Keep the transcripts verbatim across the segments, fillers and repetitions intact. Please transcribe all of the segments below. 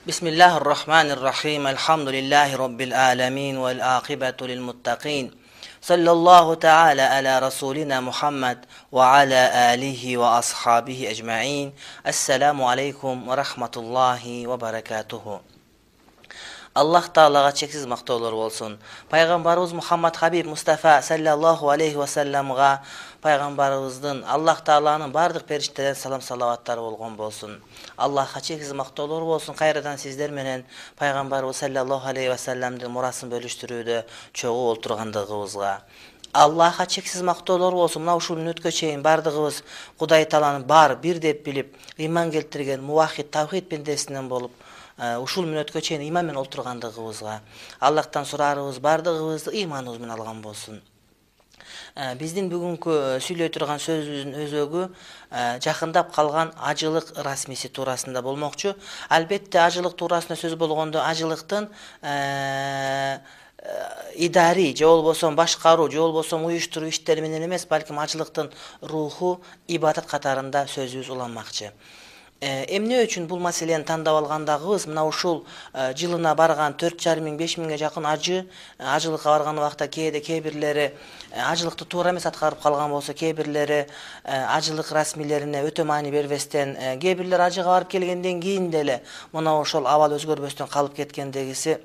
بسم الله الرحمن الرحيم الحمد لله رب العالمين والعاقبة للمتقين صلى الله تعالى على رسولنا محمد وعلى آله وأصحابه أجمعين السلام عليكم ورحمة الله وبركاته. Allah Taalaga çeksiz mактоолор болсун. Пайгамбарыбыз Мухаммад Хабиб Мустафа саллаллаху алейхи ва салламга пайгамбарыбыздын Аллах Тааланын бардык периштелерин салам салаваттары болгон болсун. Аллахка чексиз мактоолор болсун. Кайрадан сиздер менен пайгамбарыбыз саллаллаху алейхи ва салламдын мурасын бөлүштүрүүдө чогуу олтургандыгыбызга Аллахка чексиз мактоолор болсун. Мына ушул мүнөткө чейин бардыгыбыз Кудай Тааланы бар, бир деп билип, ыйман келтирген муваххид тавхид пендесинен болуп ушул мүнөткө чейин ыйман менен олтургандыгыбызга Аллахтан сураарыбыз бардыгыбызды ыйманыбыз менен алган болсун. Биздин бүгүнкү сүйлөй турган сөзүбүздүн өзөгү жакындап калган ажылык расмиси туурасында болмокчу. Албетте ажылык туурасында сөз болгондо ажылыктын идари же болбосо башкаруу же болбосо уюштуруу иштери менен эмес, балким ажылыктын руху, ибадат катарында сөзүбүз уланмакчы. Эмне үчүн бул маселени тандап алгандагыбыз мына ушул жылына барган төрт жарым миң беш миңге жакын ажы ажылыкка барган убакта кээде кээ бирлери ажылыкты туура эмес аткарып калган болсо, кээ бирлери ажылык расмилерине өтө маани бербестен, кээ бирлер ажыга барып келгенден кийин деле мына ошол абал өзгөрбөстөн калып кеткендегиси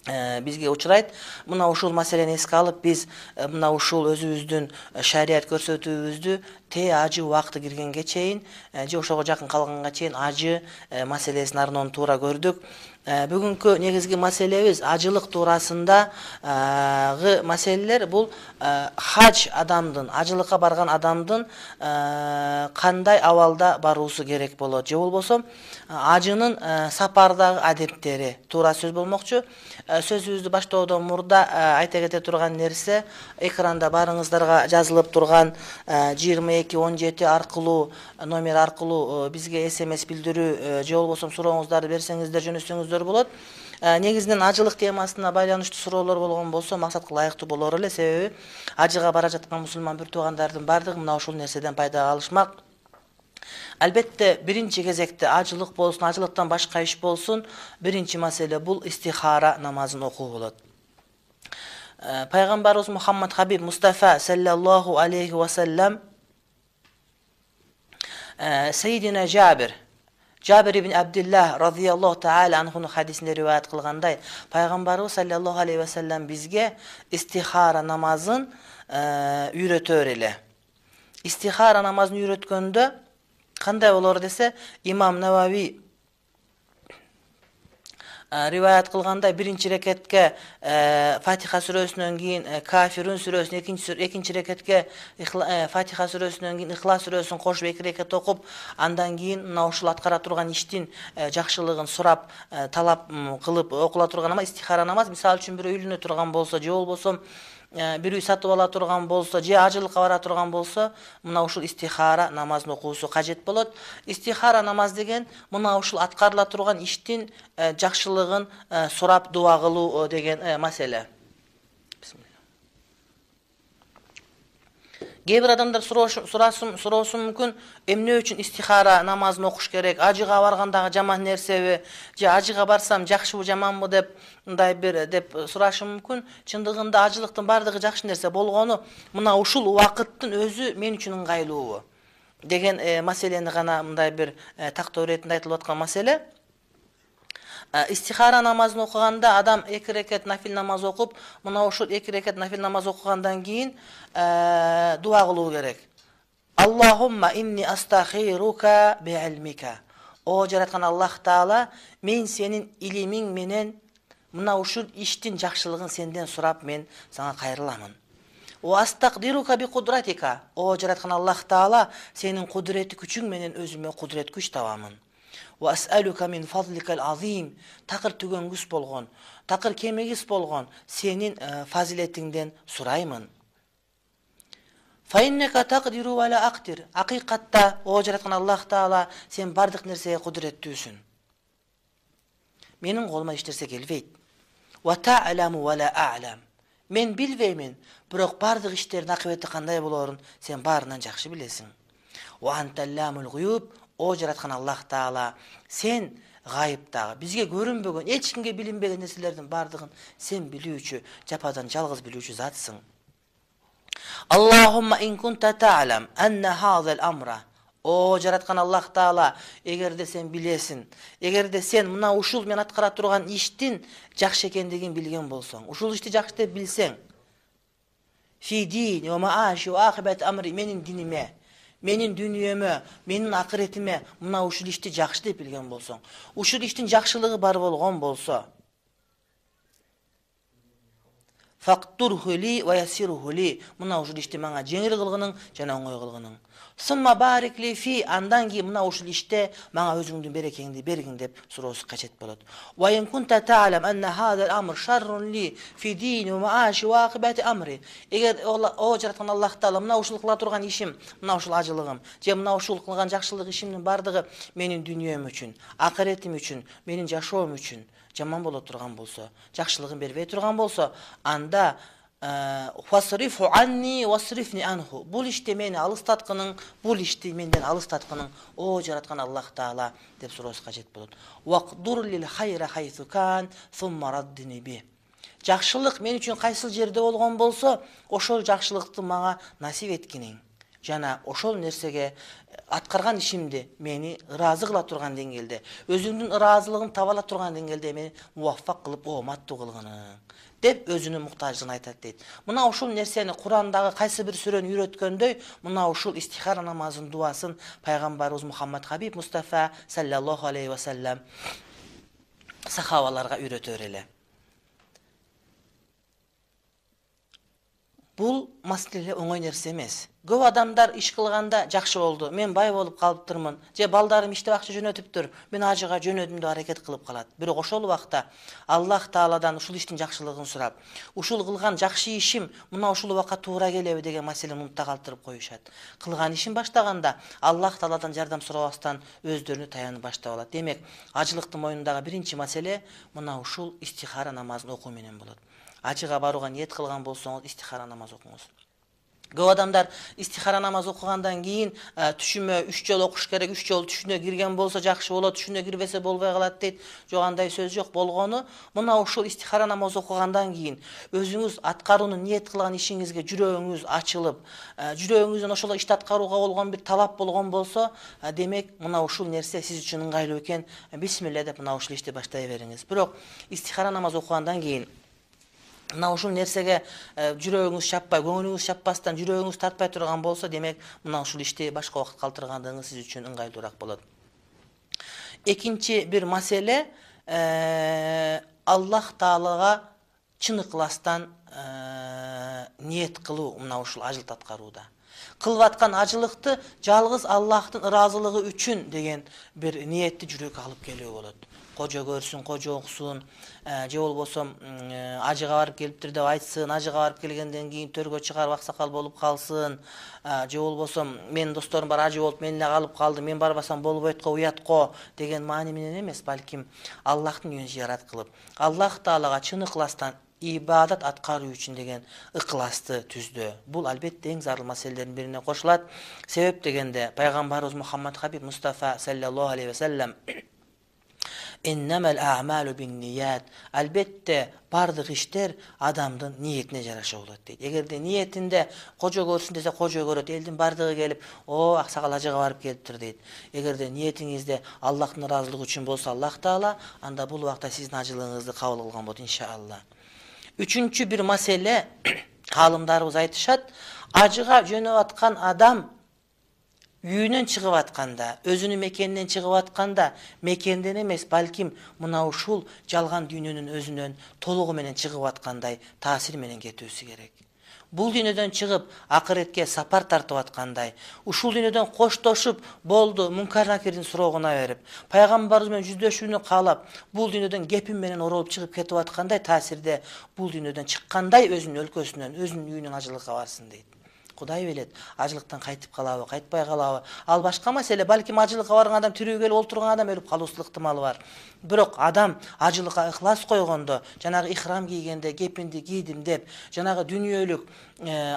бизге учурайт. Мына ушул маселени эске алып, биз мына ушул өзүбүздүн шарият көрсөтүүбүздү те ажы убакыты киргенге чейин же ошого жакын калганга чейин ажы маселесин арнон туура көрдүк. Бүгүнкү негизги маселебиз ажылык туурасындагы маселелер. Бул хадж адамдын, ажылыкка барган адамдын кандай абалда баруусу керек болот же болбосо ажынын сапардагы адептери туура сөз болмокчу. Сөзүбүздү баштоодон мурда айта кете турган нерсе, экранда барыңыздарга жазылып турган жыйырма эки он жети аркылуу номер аркылуу бизге смс билдирүү же болбосо сурооңуздарды берсеңиздер, жөнөтсөңүздөр болот. Негизинен ажылык темасына байланыштуу суроолор болгон болсо максатка ылайыктуу болор эле, себеби ажыга бара жаткан мусулман бир туугандардын бардыгы мына ушул нерседен пайда алышмак. Албетте биринчи кезекте ажылык болсун, ажылыктан башка иш болсун, биринчи маселе бул истихара намазын окуу болот. Пайгамбарыбыз Мухаммад Хабиб Мустафа саллаллаху алейхи ва саллам Сейдина Жабир Жабир ибн Абдуллах радияллаху таала анхунун хадисинде риваят кылгандай, пайгамбарыбыз саллаллаху алейхи ва саллам бизге истихара намазын үйрөтөр эле. Истихара намазын үйрөткөндө кандай болор десе, имам Навави риваят кылгандай, биринчи рекетке Фатиха сүрөсүнөн кийин Кафирун сүрөсүн, экинчи экинчи рекетке Фатиха сүрөсүнөн кийин Ихлас сүрөсүн кошуп эки рекет окуп, андан кийин мына ушул аткара турган иштин жакшылыгын сурап, талап кылып окула турган намаз истихара намаз. Мисалы үчүн бирөө үйлөнө турган болсо же болбосо бир үй сатып ала турган болсо же ажылыкка бара турган болсо, мына ушул истихара намазын окуусу кажет болот. Истихара намаз деген мына ушул аткарыла турган иштин жакшылыгын сурап дуа кылуу деген маселе. Кээ бир адамдар суроосу суроосу мүмкүн, эмне үчүн истихара намазын окуш керек? Ажыга баргандагы жаман нерсеби же ажыга барсам жакшыбы жаманбы деп мындай бир деп сурашы мүмкүн. Чындыгында ажылыктын бардыгы жакшы нерсе болгону, мына ушул убакыттын өзү мен үчүн ыңгайлуу деген маселени гана мындай бир тактоо иретинде айтылып аткан маселе. Истихара намазын окуганда адам эки рекет нафил намаз окуп, мына ушул эки рекет нафил намаз окугандан кийин дуа кылуу керек. Аллахумма инни астахирука би илмика. О жараткан Аллах Таала, мен сенин илимиң менен мына ушул иштин жакшылыгын сенден сурап мен сага кайрыламын. Ва астакдирука би кудратика. О жараткан Аллах Таала, сенин кудурети күчүң менен өзүмө кудурет күч табамын. Ва ас'алука мин фазликал азим. Такыр түгөнгүс болгон, такыр кемегис болгон сенин фазилетиңден сураймын. Фа иннека тaqdiru ва ла aqdir. Акыйкатта о жараткан Аллах Таала, сен бардык нерсеге кудуреттүүсүн. Менин колума эч нерсе келбейт. Ва ta'lamu ва ла a'lam. Мен билбеймин, бирок бардык иштердин акыбети кандай болорун сен баарынан жакшы билесиң. Ва анталламул гуюб. О жараткан Аллах Таала, сен гайыптагы, бизге көрүнбөгөн, эч кимге билинбеген нерселердин бардыгын сен билүүчү, жападан жалгыз билүүчү затсың. Аллахумма ин кунта та'лам анна хазал амра. О жараткан Аллах Таала, эгерде сен билесиң, эгерде сен мына ушул мен аткара турган иштин жакшы экендигин билген болсоң, ушул ишти жакшы деп билсең, фи дин ва мааши ва ахибат амри, менин диниме, менин дүнүйөмө, менин акыретиме мына ушул ишти жакшы деп билген болсоң, ушул иштин жакшылыгы бар болгон болсо, фактурхули ва ясирхули, мына ушул ишти мага жеңил кылгының жана оңой кылгының. Сумма барикли фи, андан кийин мына ушул иште мага өзүңдүн берекеңди бергиң деп суроосу кажет болот. Ва ин кунта та'лам анна хазал амр шаррун ли фи дини ва мааши ва акибати амри. Эгер о жараткан Аллах Таала, мына ушул кыла турган ишим, мына ушул ажылыгым, же мына ушул кылган жакшылык ишимдин бардыгы менин дүнүйөм үчүн, акыретим үчүн, менин жашоом үчүн жаман боло турган болсо, жакшылыгын бербей турган болсо, анда фасрифу анни васрифни анху. Бул ишти мени алыстаткының, бул ишти менден алыстаткының, о жараткан Аллах Таала деп суроосу кажет болот. Вaqdur lil khayra haythu kan thumma raddini bi. Жакшылык мен үчүн кайсыл жерде болгон болсо, ошол жакшылыкты мага насип эткиниң. Жана ошол нерсеге аткарган ишимди мени ыраазы кыла турган деңгээлде, өзүңдүн ыраазылыгын таба ала турган деңгээлде мени муваффак кылып ооматтуу кылгының деп өзүнүн муктаждыгын айтат дейт. Мына ушул нерсени Курандагы кайсы бир сүрөнү үйрөткөндөй, мына ушул истихара намазынын дуасын пайгамбарыбыз Мухаммад Хабиб Мустафа саллаллаху алейхи ва саллям сахабаларга үйрөтөр эле. Бул маселе оңой нерсе эмес. Көп адамдар иш кылганда жакшы болду, мен бай болуп калыптырмын, же балдарым иштеп акча жөнөтүптүр, мен ажыга жөнөдүм деп аракет кылып калат. Бирок ошол убакта Аллах Тааладан ушул иштин жакшылыгын сурап, ушул кылган жакшы ишим мына ушул убакка туура келеби деген маселени мунта калтырып коюшат. Кылган ишин баштаганда Аллах Тааладан жардам сурабастан өздөрүнө таянып баштап алат. Демек, ажылыктын мойнундагы биринчи маселе мына ушул истихара намазын окуу менен болот. Ажыга барууга ниет кылган болсоңуз истихара намаз окуңуз. Көп адамдар истихара намаз окугандан кийин түшүмө үч жолу окуш керек, үч жолу түшүнө кирген болсо жакшы болот, түшүнө кирбесе болбой калат дейт. Жок, андай сөз жок. Болгону мына ушул истихара намаз окугандан кийин өзүңүз аткарууну ниет кылган ишиңизге жүрөгүңүз ачылып, жүрөгүңүздөн ошол ишти аткарууга болгон бир талап болгон болсо, демек мына ушул нерсе сиз үчүн ыңгайлуу экен. Бисмилля деп мына ушул ишти баштай бериңиз. Бирок истихара намаз окугандан кийин мына ушул нерсеге жүрөгүңүз чаппай, көңүлүңүз чаппастан, жүрөгүңүз тартпай турган болсо, демек мына ушул ишти башка убакыт калтыргандыгыңыз сиз үчүн ыңгайлуураак болот. Экинчи бир маселе, Аллах Таалага чын ыкластан ниет кылуу мына ушул ажылт аткарууда. Кылып аткан ажылыкты жалгыз Аллахтын ыраазылыгы үчүн деген бир ниетти жүрөккө алып келүү болот. Кожо көрсүн, кожо оксун, же болбосо ажыга барып келиптир деп айтсын, ажыга барып келгенден кийин төргө чыгарып аксакал болуп калсын, же болбосо менин досторум бар ажы болуп мен эле калып калды, мен барбасам болбойт го, уят го деген маани менен эмес, балким Аллахтын үйүн зыярат кылып, Аллах Таалага чын ыкластан ибадат аткаруу үчүн деген ыкласты түздөө. Бул албетте эң зарыл маселелердин бирине кошулат. Себеп дегенде пайгамбарыбыз Мухаммад Хабиб Мустафа саллаллаху алейхи ва саллям Иннамал а'малу бин-ният. Албетте бардык иштер адамдын ниетине жараша болот дейт. Эгерде ниетинде кожо көрсүн десе кожо көрөт, элдин бардыгы келип, "О, аксакал ажыга барып келиптир" дейт. Эгерде ниетиңизде Аллахтын ыраазылыгы үчүн болсо Аллах Таала, анда бул убакта сиздин ажылыгыңызды кабыл кылган болот иншалла. Үчүнчү бир маселе, калымдарыбыз айтышат, ажыга жөнөп аткан адам үйүнөн чыгып атканда, өзүнүн мекенинен чыгып атканда, мекенден эмес, балким мына ушул жалган дүйнөнүн өзүнөн толугу менен чыгып аткандай таасир менен кетүүсү керек. Бул дүйнөдөн чыгып акыретке сапар тартып аткандай, ушул дүйнөдөн коштошуп, болду, мункар накирдин суроогуна берип, пайгамбарыбыз менен жүздөшүүнү каалап, бул дүйнөдөн кепим менен оролуп чыгып кетип аткандай таасирде бул дүйнөдөн чыккандай өзүнүн өлкөсүнөн, өзүнүн үйүнөн ажылыкка барсын дейт. Кудай билет, ажылыктан кайтып калабы, кайтпай калабы. Ал башка маселе. Балким ажылыкка барган адам тирүү келип олтурган адам өлүп калуусу ыктымалы бар. Бирок адам ажылыкка ыхлас койгондо, жанагы ихрам кийгенде, кепинди кийдим деп, жанагы дүнүйөлүк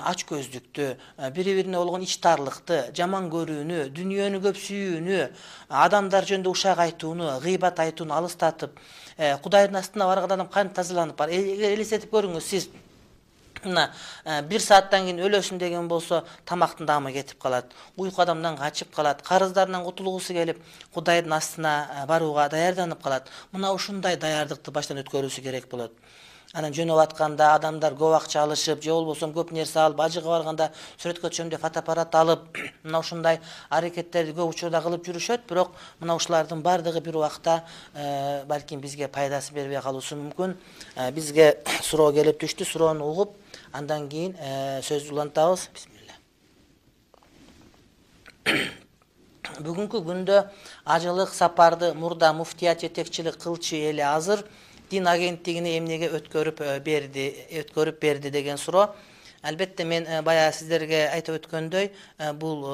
ач көздүктү, бири-бирине болгон ичтарлыкты, жаман көрүүнү, дүнүйөнү көп сүйүүнү, адамдар жөнүндө ушак айтууну, гыйбат айтууну алыстатып, Кудайдын астына барган адам кантип тазаланып бар. Элестетип көрүңүз, сиз мына бир сааттан кийин өлөсүн деген болсо, тамактын даамы кетип калат, уйку адамдан качып калат, карыздарынан кутулгусу келип, Кудайдын астына барууга даярданып калат. Мына ушундай даярдыкты баштан өткөрүүсү керек болот. Анан жөнөп атканда адамдар көп акча алышып, же болбосо көп нерсе алып, ажыга барганда сүрөткө түшөм деп фотоаппарат алып, мына ушундай аракеттерди көп учурда кылып жүрүшөт, бирок мына ушулардын бардыгы бир убакта балким бизге пайдасын бербей калуусу мүмкүн. Бизге суроо келип түштү, суроону угуп, андан кийин сөздү улантабыз. Бисмилла. Бүгүнкү күндө ажылык сапарды мурда муфтият жетекчилик кылчу эли азыр Дин агенттигине эмнеге өткөрүп берди, өткөрүп берди деген суроо. Албетте мен баягы сиздерге айтып өткөндөй, бул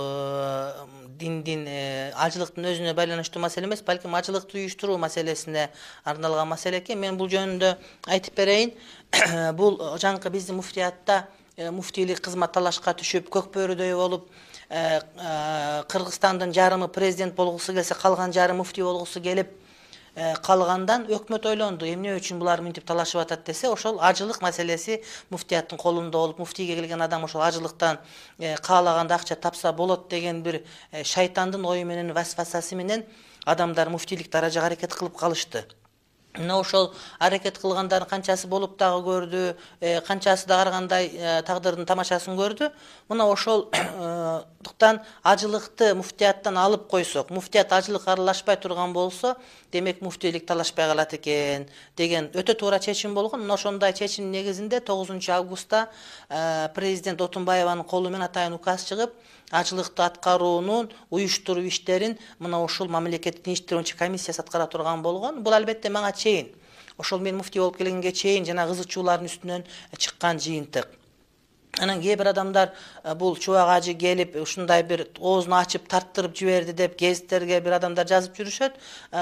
диндин ажылыктын өзүнө байланыштуу маселе эмес, балким ажылыкты уюштуруу маселесине арналган маселе экен. Мен бул жөнүндө айтып берейин. Бул жаңкы биздин муфтиятта муфтийлик кызмат талашка түшүп, көк бөрүдөй болуп, Кыргызстандын жарымы президент болгусу келсе, калган жарым муфтий болгусу келип калгандан өкмөт ойлонду, эмне үчүн булар мынтип талашып атат десе, ошол ажылык маселеси муфтияттын колунда болуп, муфтийге келген адам ошол ажылыктан каалаганда акча тапса болот деген бир шайтандын ою менен, васвасасы менен адамдар муфтийлик даражага аракет кылып калышты. Мына ошол аракет кылгандардын канчасы болуп дагы көрдү, канчасы да ар кандай тагдырдын тамашасын көрдү. Мына ошолдуктан ажылыкты муфтияттан алып койсок, муфтият ажылыкка аралашпай турган болсо, демек муфтийлик талашпай калат экен деген өтө туура чечим болгон. Мына ошондой чечим негизинде тогузунчу августта президент Отунбаеванын колу менен атайын указ чыгып, ажылыкты аткаруунун уюштуруу иштерин мына ушул мамлекеттик иштер боюнча комиссиясы аткара турган болгон. Бул албетте мага чейин, ошол мен муфтий болуп келгенге чейин жана кызык чуулардын үстүнөн чыккан жыйынтык. Анан кээ бир адамдар бул чубак ажы келип ушундай бир оозун ачып тарттырып жиберди деп гезиттерге бир адамдар жазып жүрүшөт.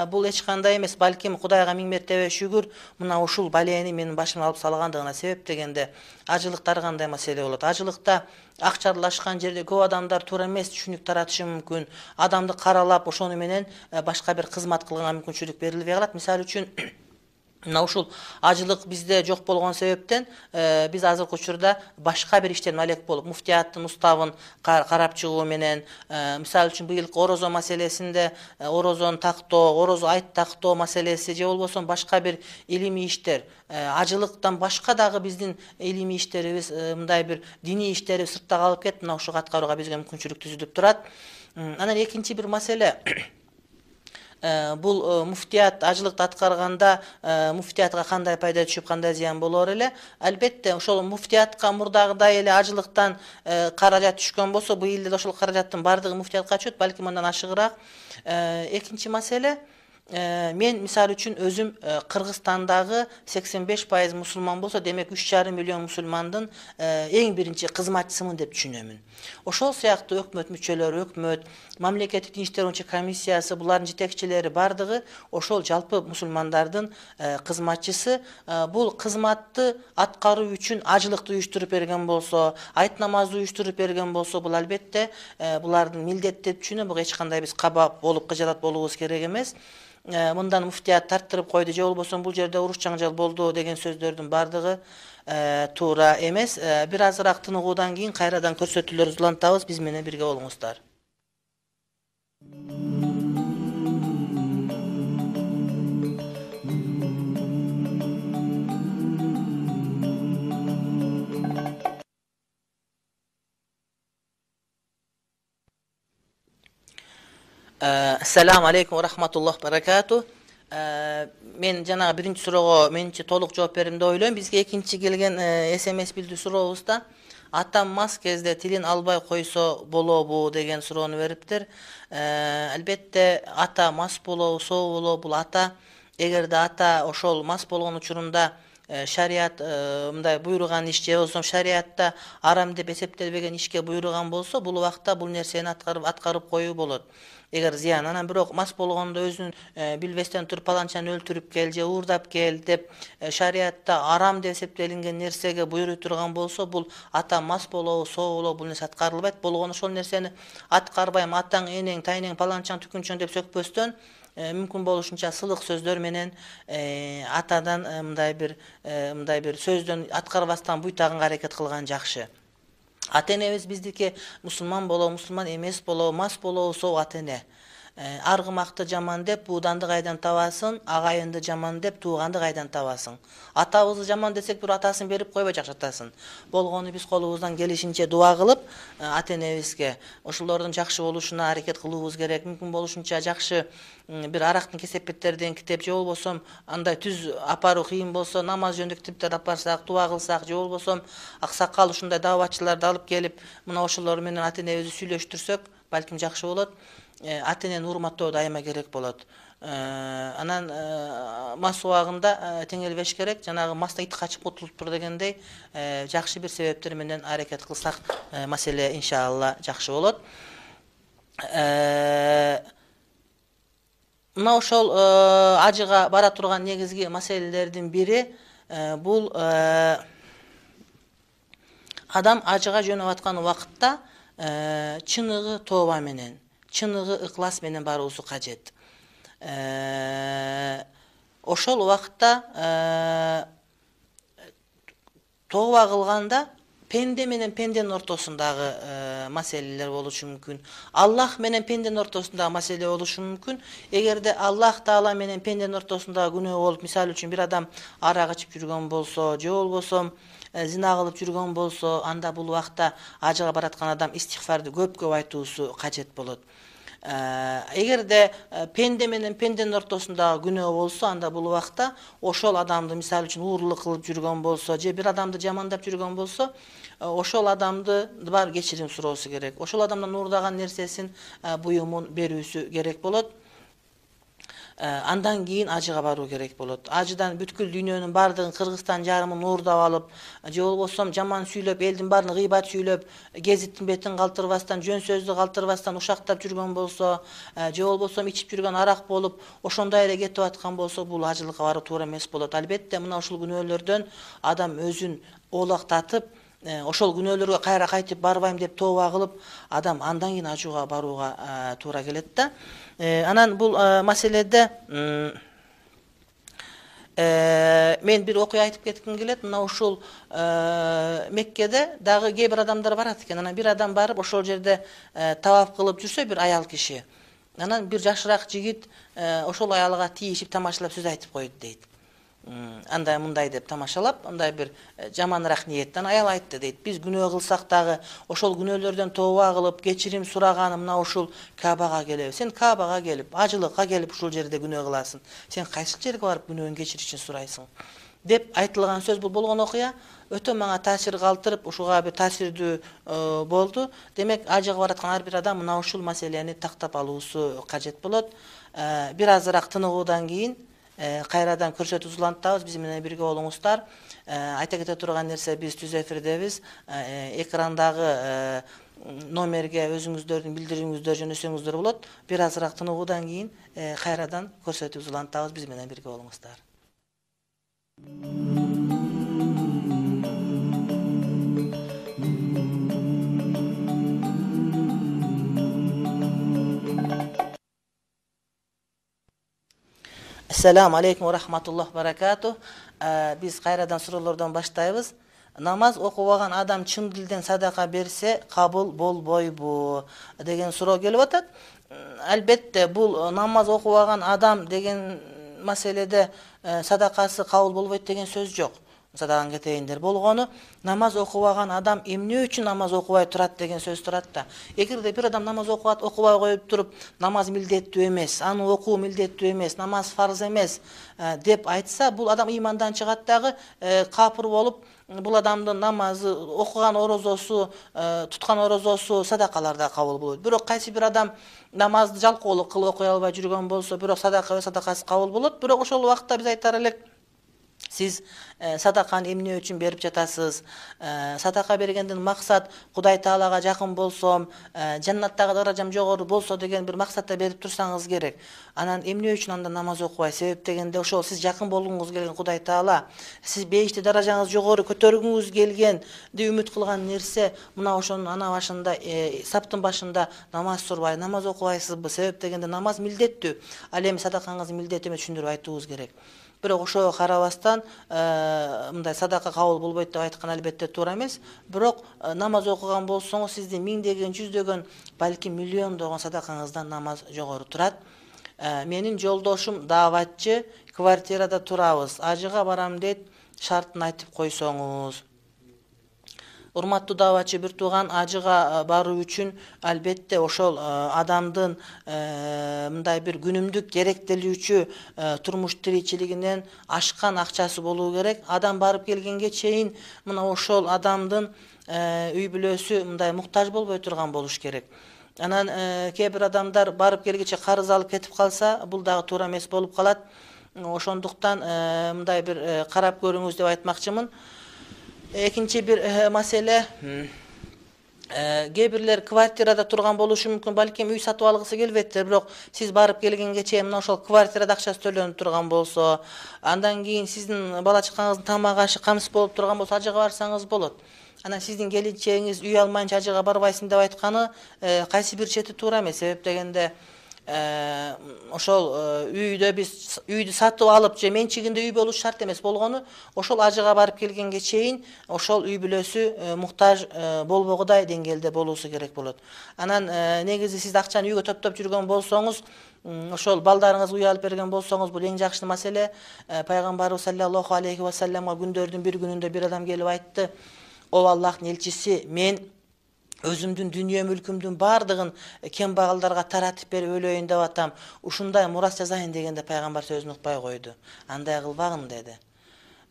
Бул эч кандай эмес, балким Кудайга миң мертебе шүгүр, мына ушул балени менин башыма алып салгандыгына себеп дегенде, ажылыкта ар кандай маселе болот. Ажылыкта акча аралашкан жерде көп адамдар туура эмес түшүнүк таратышы мүмкүн. Адамды каралап, ошону менен башка бир кызмат кылганга мүмкүнчүлүк берилбей калат. Мисалы үчүн мына ушул ажылык бизде жок болгон себептен биз азыркы учурда башка бир иштерин алек болуп, муфтияттын уставын карап чыгуу менен, мисалы үчүн быйылкы орозо маселесинде орозону тактоо, орозо айт тактоо маселеси же болбосо башка бир илимий иштер, ажылыктан башка дагы биздин илимий иштерибиз, мындай бир диний иштерибиз сыртта калып кетип, мына ушуга аткарууга бизге мүмкүнчүлүк түзүлүп турат. Анан экинчи бир маселе, бул муфтият ажылыкты аткарганда муфтиятка кандай пайда түшүп, кандай зыян болор эле. Албетте ошол муфтиятка мурдагыдай эле ажылыктан каражат түшкөн болсо, быйыл деле ошол каражаттын бардыгы муфтиятка түшөт, балким андан ашыгыраак. Экинчи маселе, мен мисалы үчүн өзүм Кыргызстандагы сексен беш пайыз мусулман болсо, демек үч жарым миллион мусулмандын эң биринчи кызматчысымын деп түшүнөмүн. Ошол сыяктуу өкмөт мүчөлөрү, өкмөт, мамлекеттик иштер боюнча комиссиясы, булардын жетекчилери бардыгы ошол жалпы мусулмандардын кызматчысы. Бул кызматты аткаруу үчүн ажылыкты уюштуруп берген болсо, айт намазды уюштуруп берген болсо, бул албетте булардын милдети деп түшүнөм. Буга эч кандай биз каба болуп кыжалат болуубуз керек эмес. Мындан муфтият тарттырып койду же болбосо бул жерде уруш жаңжал болду деген сөздөрдүн бардыгы туура эмес. Бир азыраак тыныгуудан кийин кайрадан көрсөтүүлөрүбүздү улантабыз. Биз менен бирге болуңуздар. Assalamu alaikum wa rahmatullohi wa barakatuh. Мен жанагы биринчи суроого менчи толук жооп бердим деп ойлойм. Бизге экинчи келген эс эм эс билдирүү сурообузда атам мас кезде тилин албай койсо болобу деген суроону бериптир. Албетте ата мас болобу, соо болобу, бул ата. Эгерде ата ошол мас болгон учурунда шарият мындай буйруган иш же болбосо шариатта арам деп эсептелбеген ишке буйруган болсо, бул убакта бул нерсени аткарып аткарып коюу болот. Эгер зыян, анан бирок мас болгондо өзүн билбестен туруп паланчаны өлтүрүп кел же уурдап кел деп шариатта арам деп эсептелинген нерсеге буйруй турган болсо, бул ата мас болобу, соо болобу, бул нерсе аткарылбайт. Болгону ошол нерсени аткарбайм, атаң, энең, тайнең, паланчаң, түкүнчөң деп сөкпөстөн, мүмкүн болушунча сылык сөздөр менен атадан мындай бир мындай бир сөздөн аткарбастан буйтагынга аракет кылган жакшы. Ата-энебиз биздики мусулман болобу, мусулман эмес болобу, мас болобу, соо ата-эне. Аргымакты жаман деп бууданды кайдан табасың, агайынды жаман деп тууганды кайдан табасың. Атабызды жаман десек, бир атасын берип койбой жакшатасың. Болгону биз колубуздан келишинче дуа кылып, ата-энебизге ошолордун жакшы болушуна аракет кылуубуз керек. Мүмкүн болушунча жакшы бир арактын кесепеттерден китеп же болбосо андай түз апаруу кыйын болсо, намаз жөнүндө китептерди апарсак, дуа кылсак же болбосо аксакал ушундай дааватчыларды алып келип, мына ошолор менен ата-энебизди сүйлөштүрсөк, балким жакшы болот. Ата-энени урматтоо дайыма керек болот. Анан мас убагында теңелбеш керек. Жанагы мастан ит качып кутулуптур дегендей, жакшы бир себептер менен аракет кылсак, маселе иншалла жакшы болот. Мына ошол ажыга бара турган негизги маселелердин бири бул адам ажыга жөнөп аткан убакытта чыныгы тооба менен, чыныгы ыклас менен баруусу кажет. Ошол убакытта тооба кылганда пенде менен пенденин ортосундагы маселелер болушу мүмкүн. Аллах менен пенденин ортосундагы маселе болушу мүмкүн. Эгерде Аллах Таала менен пенденин ортосундагы күнөө болуп, мисалы үчүн бир адам арак ичип жүргөн болсо, же болбосо зина кылып жүргөн болсо, анда бул убакта ажыга бараткан адам истигфарды көп-көп айтуусу кажет болот. Эгерде пенде менен пенденин ортосундагы күнөө болсо, анда бул убакта ошол адамды, мисалы үчүн уурлук кылып жүргөн болсо, же бир адамды жамандап жүргөн болсо, ошол адамды бар кечирим суроосу керек. Ошол адамдан уурдаган нерсесин, буюмун берүүсү керек болот. Андан кийин ажыга баруу керек болот. Ажыдан бүткүл дүйнөнүн бардыгын, Кыргызстан жарымын уурдап алып, же болбосо жаман сүйлөп, элдин баарын гыйбат сүйлөп, гезиттин бетин калтырбастан, жөн сөздү калтырбастан ушактап жүргөн болсо, же болбосо ичип жүргөн арак болуп, ошондой эле кетип аткан болсо, бул ажылыкка баруу туура эмес болот. Албетте, мына ушул күнөөлөрдөн адам өзүн оолактатып, ошол күнөөлөргө кайра кайтып барбайм деп тооба кылып, адам андан кийин ажууга барууга туура келет да. Анан бул маселеде мен бир окуя айтып кетким келет. Мына ушул Меккеде дагы кээ бир адамдар барат экен. Анан бир адам барып ошол жерде таваф кылып жүрсө, бир аял киши. Анан бир жашыраак жигит ошол аялга тийишип, тамашалап сөз айтып койду дейт. Андай мындай деп тамашалап, андай бир жаманыраак ниеттен аял айтты дейт. Биз күнөө кылсак дагы ошол күнөөлөрдөн тооба кылып, кечирим сураганы мына ушул Каабага келебиз. Сен Каабага келип, ажылыкка келип ушул жерде күнөө кыласың. Сен кайсы жерге барып күнөөңдү кечиришин сурайсың? Деп айтылган сөз бул болгон окуя өтө мага таасир калтырып, ушуга бир таасирдүү болду. Демек, ажыга бараткан ар бир адам мына ушул маселени тактап алуусу кажет болот. Бир азыраак тыныгуудан кийин кайрадан көрсөтүү улантабыз, биз менен бирге болуңуздар. Айта кете турган нерсе, биз түз эфирдебиз. Экрандагы номерге өзүңүздөрдүн билдирүүңүздөрдү жөнөсөңүздөр болот. Бир азыраак тыныгуудан кийин кайрадан көрсөтүү улантабыз, биз менен бирге болуңуздар. Ассаламу алейкум ва рахматуллах баракату. Биз кайрадан суроолордон баштайбыз. Намаз окубаган адам чын дилден садака берсе, кабыл болбойбу деген суроо келип атат. Албетте, бул намаз окубаган адам деген маселеде садакасы кабыл болбойт деген сөз жок. Садаган кетейиндер болгону, намаз окубаган адам эмне үчүн намаз окубай турат деген сөз турат да. Эгерде бир адам намаз окубат, окубай коюп туруп, намаз милдеттүү эмес, аны окуу милдеттүү эмес, намаз фарз эмес деп айтса, бул адам имандан чыгат дагы, капыр болуп, бул адамдын намазы, окуган орозосу, туткан орозосу, садакалар да кабыл болот. Бирок кайсы бир адам намазды жалкоолук кылып окуй албай жүргөн болсо, бирок садака садакасы кабыл болот. Бирок ошол убакытта биз айтар элек, Сиз садаканы эмне үчүн берип жатасыз? Садака бергенден максат Кудай Таалага жакын болсом, жаннаттагы даражам жогору болсо деген бир максатта берип турсаңыз керек. Анан эмне үчүн анда намаз окубай? Себеп дегенде ошол сиз жакын болгуңуз келген Кудай Таала, сиз бейиште даражаңыз жогору көтөргүңүз келгенди үмүт кылган нерсе, мына ошонун ана башында, саптын башында намаз турбай, намаз окубайсызбы? Себеп дегенде намаз милдеттүү. Ал эми садакаңыз милдет эмес, түшүндүрүп айтуубуз керек. Бирок ошого карабастан мындай садака кабыл болбойт деп айткан албетте туура эмес. Бирок намаз окуган болсоңуз сиздин миңдеген, жүздөгөн, балким миллиондогон садакаңыздан намаз жогору турат. Менин жолдошум дааватчы, квартирада турабыз. Ажыга барам дейт, шартын айтып койсоңуз. Урматтуу дааватчы бир тууган, ажыга баруу үчүн албетте ошол адамдын мындай бир күнүмдүк керектелүүчү турмуш тиричилигинен ашкан акчасы болуу керек. Адам барып келгенге чейин мына ошол адамдын үй бүлөсү мындай муктаж болбой турган болуш керек. Анан кээ бир адамдар барып келгиче карыз алып кетип калса, бул дагы туура эмес болуп калат. Ошондуктан мындай бир карап көрүңүз деп айтмакчымын. Экинчи бир маселе, кээ бирлер квартирада турган болушу мүмкүн, балким үй сатып алгысы келбейт, бирок сиз барып келгенге чейин мына ошол квартирада акчасы төлөнүп турган болсо, андан кийин сиздин бала чакаңыздын тамак ашы камсыз болуп турган болсо, ажыга барсаңыз болот. Анан сиздин келинчегиңиз үй алмайынча ажыга барбайсың деп айтканы кайсы бир чети туура эмес. Себеп дегенде ошол үйдө биз үйдү сатып алып же менчигинде үй болуш шарт эмес болгону, ошол ажыга барып келгенге чейин ошол үй бүлөсү муктаж болбогудай деңгээлде болуусу керек болот. Анан негизи сиз акчаны үйгө топтоп жүргөн болсоңуз, ошол балдарыңыз үй алып берген болсоңуз, бул эң жакшы маселе. Пайгамбарыбыз саллаллаху алейхи ва салламга күндөрдүн бир күнүндө бир адам келип айтты: "О Аллахтын элчиси, мен өзүмдүн дүйнө мүлкүмдүн баардыгын кембагалдарга таратып берип өлөйүн деп атам. Ушундай мурас жазайын" дегенде пайгамбар сөзүн укпай койду. "Андай кылбагын" деди.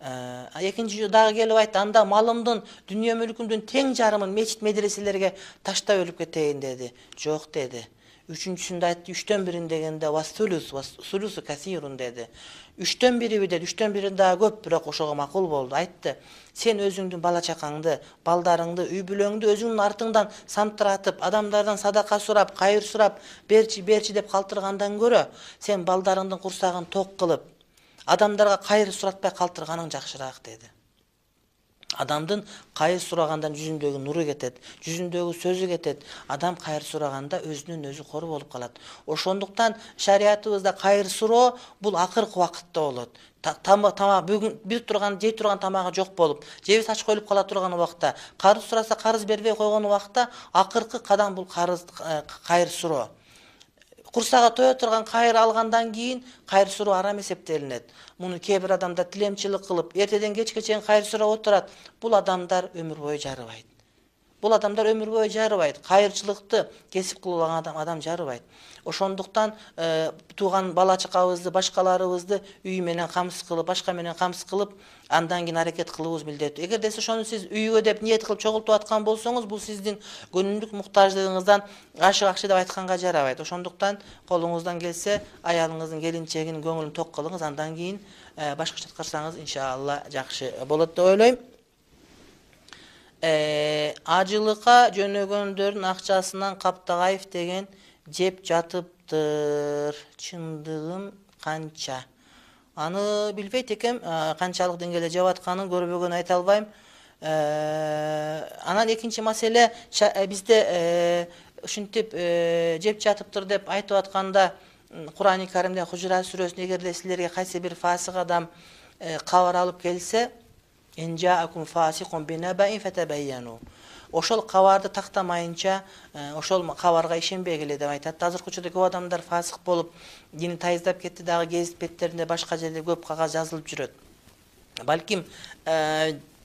Экинчи жолу дагы келип айтты: "Анда малымдын, дүйнө мүлкүмдүн тең жарымын мечит медреселерге таштап өлүп кетейин" деди. "Жок" деди. Үчүнчүсүндө айтты: "Үчтөн бирин" дегенде "Васулус, васулусу касирун" деди. Үчтөн бириби деди, үчтөн бирин дагы көп, бирок ошого макул болду. Айтты: "Сен өзүңдүн бала чакаңды, балдарыңды, үй бүлөңдү өзүңдүн артыңдан самтыратып, адамдардан садака сурап, кайыр сурап, берчи, берчи деп калтыргандан көрө, сен балдарыңдын курсагын ток кылып, адамдарга кайыр суратпай калтырганың жакшыраак" деди. Адамдын кайыр сурагандан жүзүндөгү нуру кетет, жүзүндөгү сөзү кетет. Адам кайыр сураганда өзүнүн өзү кор болуп калат. Ошондуктан шариятыбызда кайыр суроо бул акыркы убакытта болот. Тамак бүгүн бир турган, жей турган тамагы жок болуп, жеби тач коюлуп кала турган убакта, карыз сураса карыз бербей койгон убакта акыркы кадам бул карыз кайыр суроо. Курсага тое турган кайыр алгандан кийин кайыр суроо арам эсептелинет. Муну кээ бир адамдар тилемчилик кылып, эртеден кечке чейин кайыр сурап отурат. Бул адамдар өмүр бою жарыбайт. Бул адамдар өмүр бою жарыбайт. Кайырчылыкты кесип кылып алган адам адам жарыбайт. Ошондуктан тууган бала чакабызды, башкаларыбызды үй менен камсыз кылып, башка менен камсыз кылып, андан кийин аракет кылуубуз милдеттүү. Эгерде ошону сиз үйгө деп ниет кылып чогултуп аткан болсоңуз, бул сиздин күнүмдүк муктаждыгыңыздан ашык-акчы деп айтканга жарабайт. Ошондуктан колуңуздан келсе, аялыңыздын, келинчегинин көңүлүн ток кылыңыз, андан кийин башкача аткарсаңыз иншалла жакшы болот деп ойлойм. Ажылыкка жөнөгөндөрдүн акчасынан Каптагаев деген жеп жатыптыр. Чындыгым канча? Аны билбейт экем, канчалык деңгээлде жеп атканын көрбөгөн айта албайм. Анан экинчи маселе, бизде ушинтип жеп жатыптыр деп айтып атканда, Кур'ан-ы Каримде Хужурат сүрөсүндө эгерде силерге кайсы бир фасык адам кабар алып келсе, "Энжаакум фасикун бинабаин фатабайяну". Ошол кабарды тактамайынча, ошол кабарга ишенбегиле деп айтат. Азыркы учурда көп адамдар фасык болуп, дини тайыздап кетти, дагы гезит беттеринде башка жерде көп кагаз жазылып жүрөт. Балким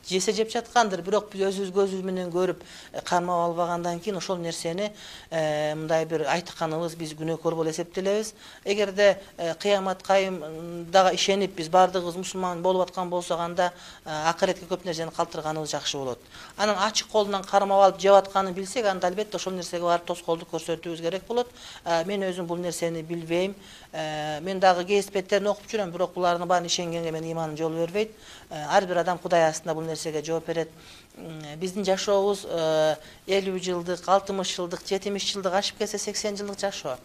жесе жеп жаткандыр, бирок биз өзүбүз көзүбүз менен көрүп кармап албагандан кийин ошол нерсени мындай бир айтканыбыз биз күнөөкөр болуп эсептелебиз. Эгерде кыямат кайымдага ишенип биз баардыгыбыз мусулман болуп аткан болсок, анда акыретке көп нерсени калтырганыбыз жакшы болот. Анан ачык колунан кармап алып жеп атканын билсек, анда албетте ошол нерсеге барып тоскоолдук көрсөтүүбүз керек болот. Мен өзүм бул нерсени билбейм. Мен дагы кесипеттерин окуп жүрөм, бирок булардын баарын ишенгенге менин иманым жол бербейт. Ар бир адам Кудай астында бул нерсеге жооп берет. Биздин жашообуз элүү жылдык, алтымыш жылдык, жетимиш жылдык, ашып кетсе сексен жылдык жашоо.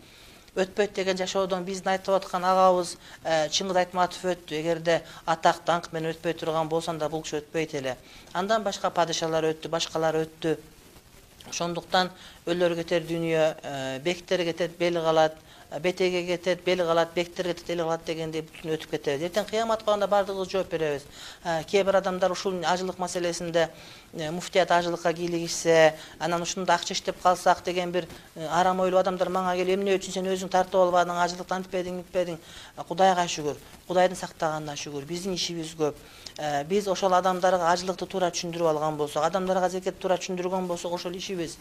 Өтпөйт деген жашоодон биздин айтып аткан агабыз Чыңгыз Айтматов өттү. Эгерде атак даңк менен өтпөй турган болсо, анда бул киши өтпөйт эле. Андан башка падышалар өттү, башкалар өттү. Ошондуктан өлөр кетер дүйнө, бектер кетет, бел калат, бетеге кетет, бел калат, бектер кетет, эл калат дегендей бүтүн өтүп кетебиз. Эртең кыямат кылганда баардыгыбыз жооп беребиз. Кээ бир адамдар ушул ажылык маселесинде муфтият ажылыкка кийлигишсе, анан ушунда акча иштеп калсак деген бир арам ойлуу адамдар мага келип, эмне үчүн сен өзүң тартып албадың, ажылыктан антпедиң, митпедиң? Кудайга шүгүр, Кудайдын сактаганына шүгүр. Биздин ишибиз көп. Биз ошол адамдарга ажылыкты туура түшүндүрүп алган болсок, адамдарга зекет туура түшүндүргөн болсок, ошол ишибиз.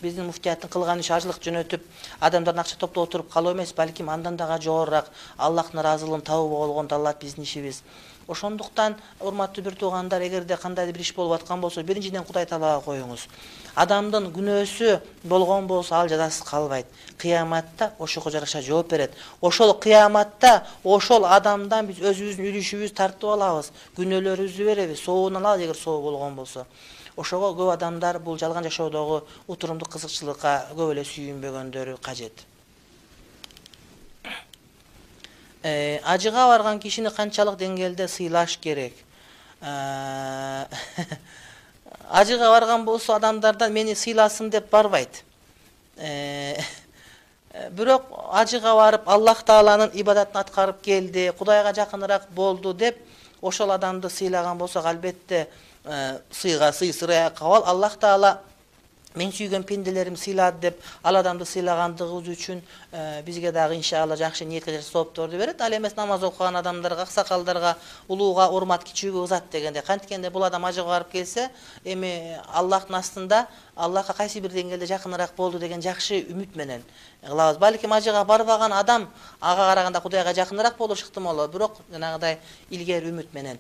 Биздин муфтияттын кылган иши ажылык жөнөтүп, адамдардан акча топтоп отуруп калуу эмес, балким андан дагы жогорураак Аллахтын ыраазылыгын табуу болгонду алат биздин ишибиз. Ошондуктан, урматтуу бир туугандар, эгерде кандайдыр бир иш болуп аткан болсо, биринчиден Кудай Таалага коюңуз. Адамдын күнөөсү болгон болсо, ал жазасыз калбайт. Кыяматта ошого жараша жооп берет. Ошол кыяматта ошол адамдан биз өзүбүздүн үлүшүбүздү тартып алабыз, күнөөлөрүбүздү беребиз, сообун алабыз эгер соо болгон болсо. Ошого көп адамдар бул жалган жашоодогу утурумдук кызыкчылыкка көп эле сүйүнбөгөндөрү кажет. Ажыга барган кишини канчалык деңгээлде сыйлаш керек? Ажыга барган болсо, адамдардан мени сыйласын деп барбайт. Бирок ажыга барып Аллах Тааланын ибадатын аткарып келди, Кудайга жакыныраак болду деп ошол адамды сыйлаган болсок, албетте сыйга сый, сырая кабал. Аллах Таала мен сүйгөн пенделерим сыйлады деп ал адамды сыйлагандыгыбыз үчүн бизге дагы иншалла жакшы ниетке жараша соопторду берет. Ал эмес намаз окуган адамдарга, аксакалдарга улууга урмат, кичүүгө узат дегенде. Канткенде бул адам ажыга барып келсе, эми Аллахтын астында Аллахка кайсы бир деңгээлде жакыныраак болду деген жакшы үмүт менен кылабыз. Балким ажыга барбаган адам ага караганда Кудайга жакыныраак болушу ыктымал, бирок жанагыдай илгери үмүт менен.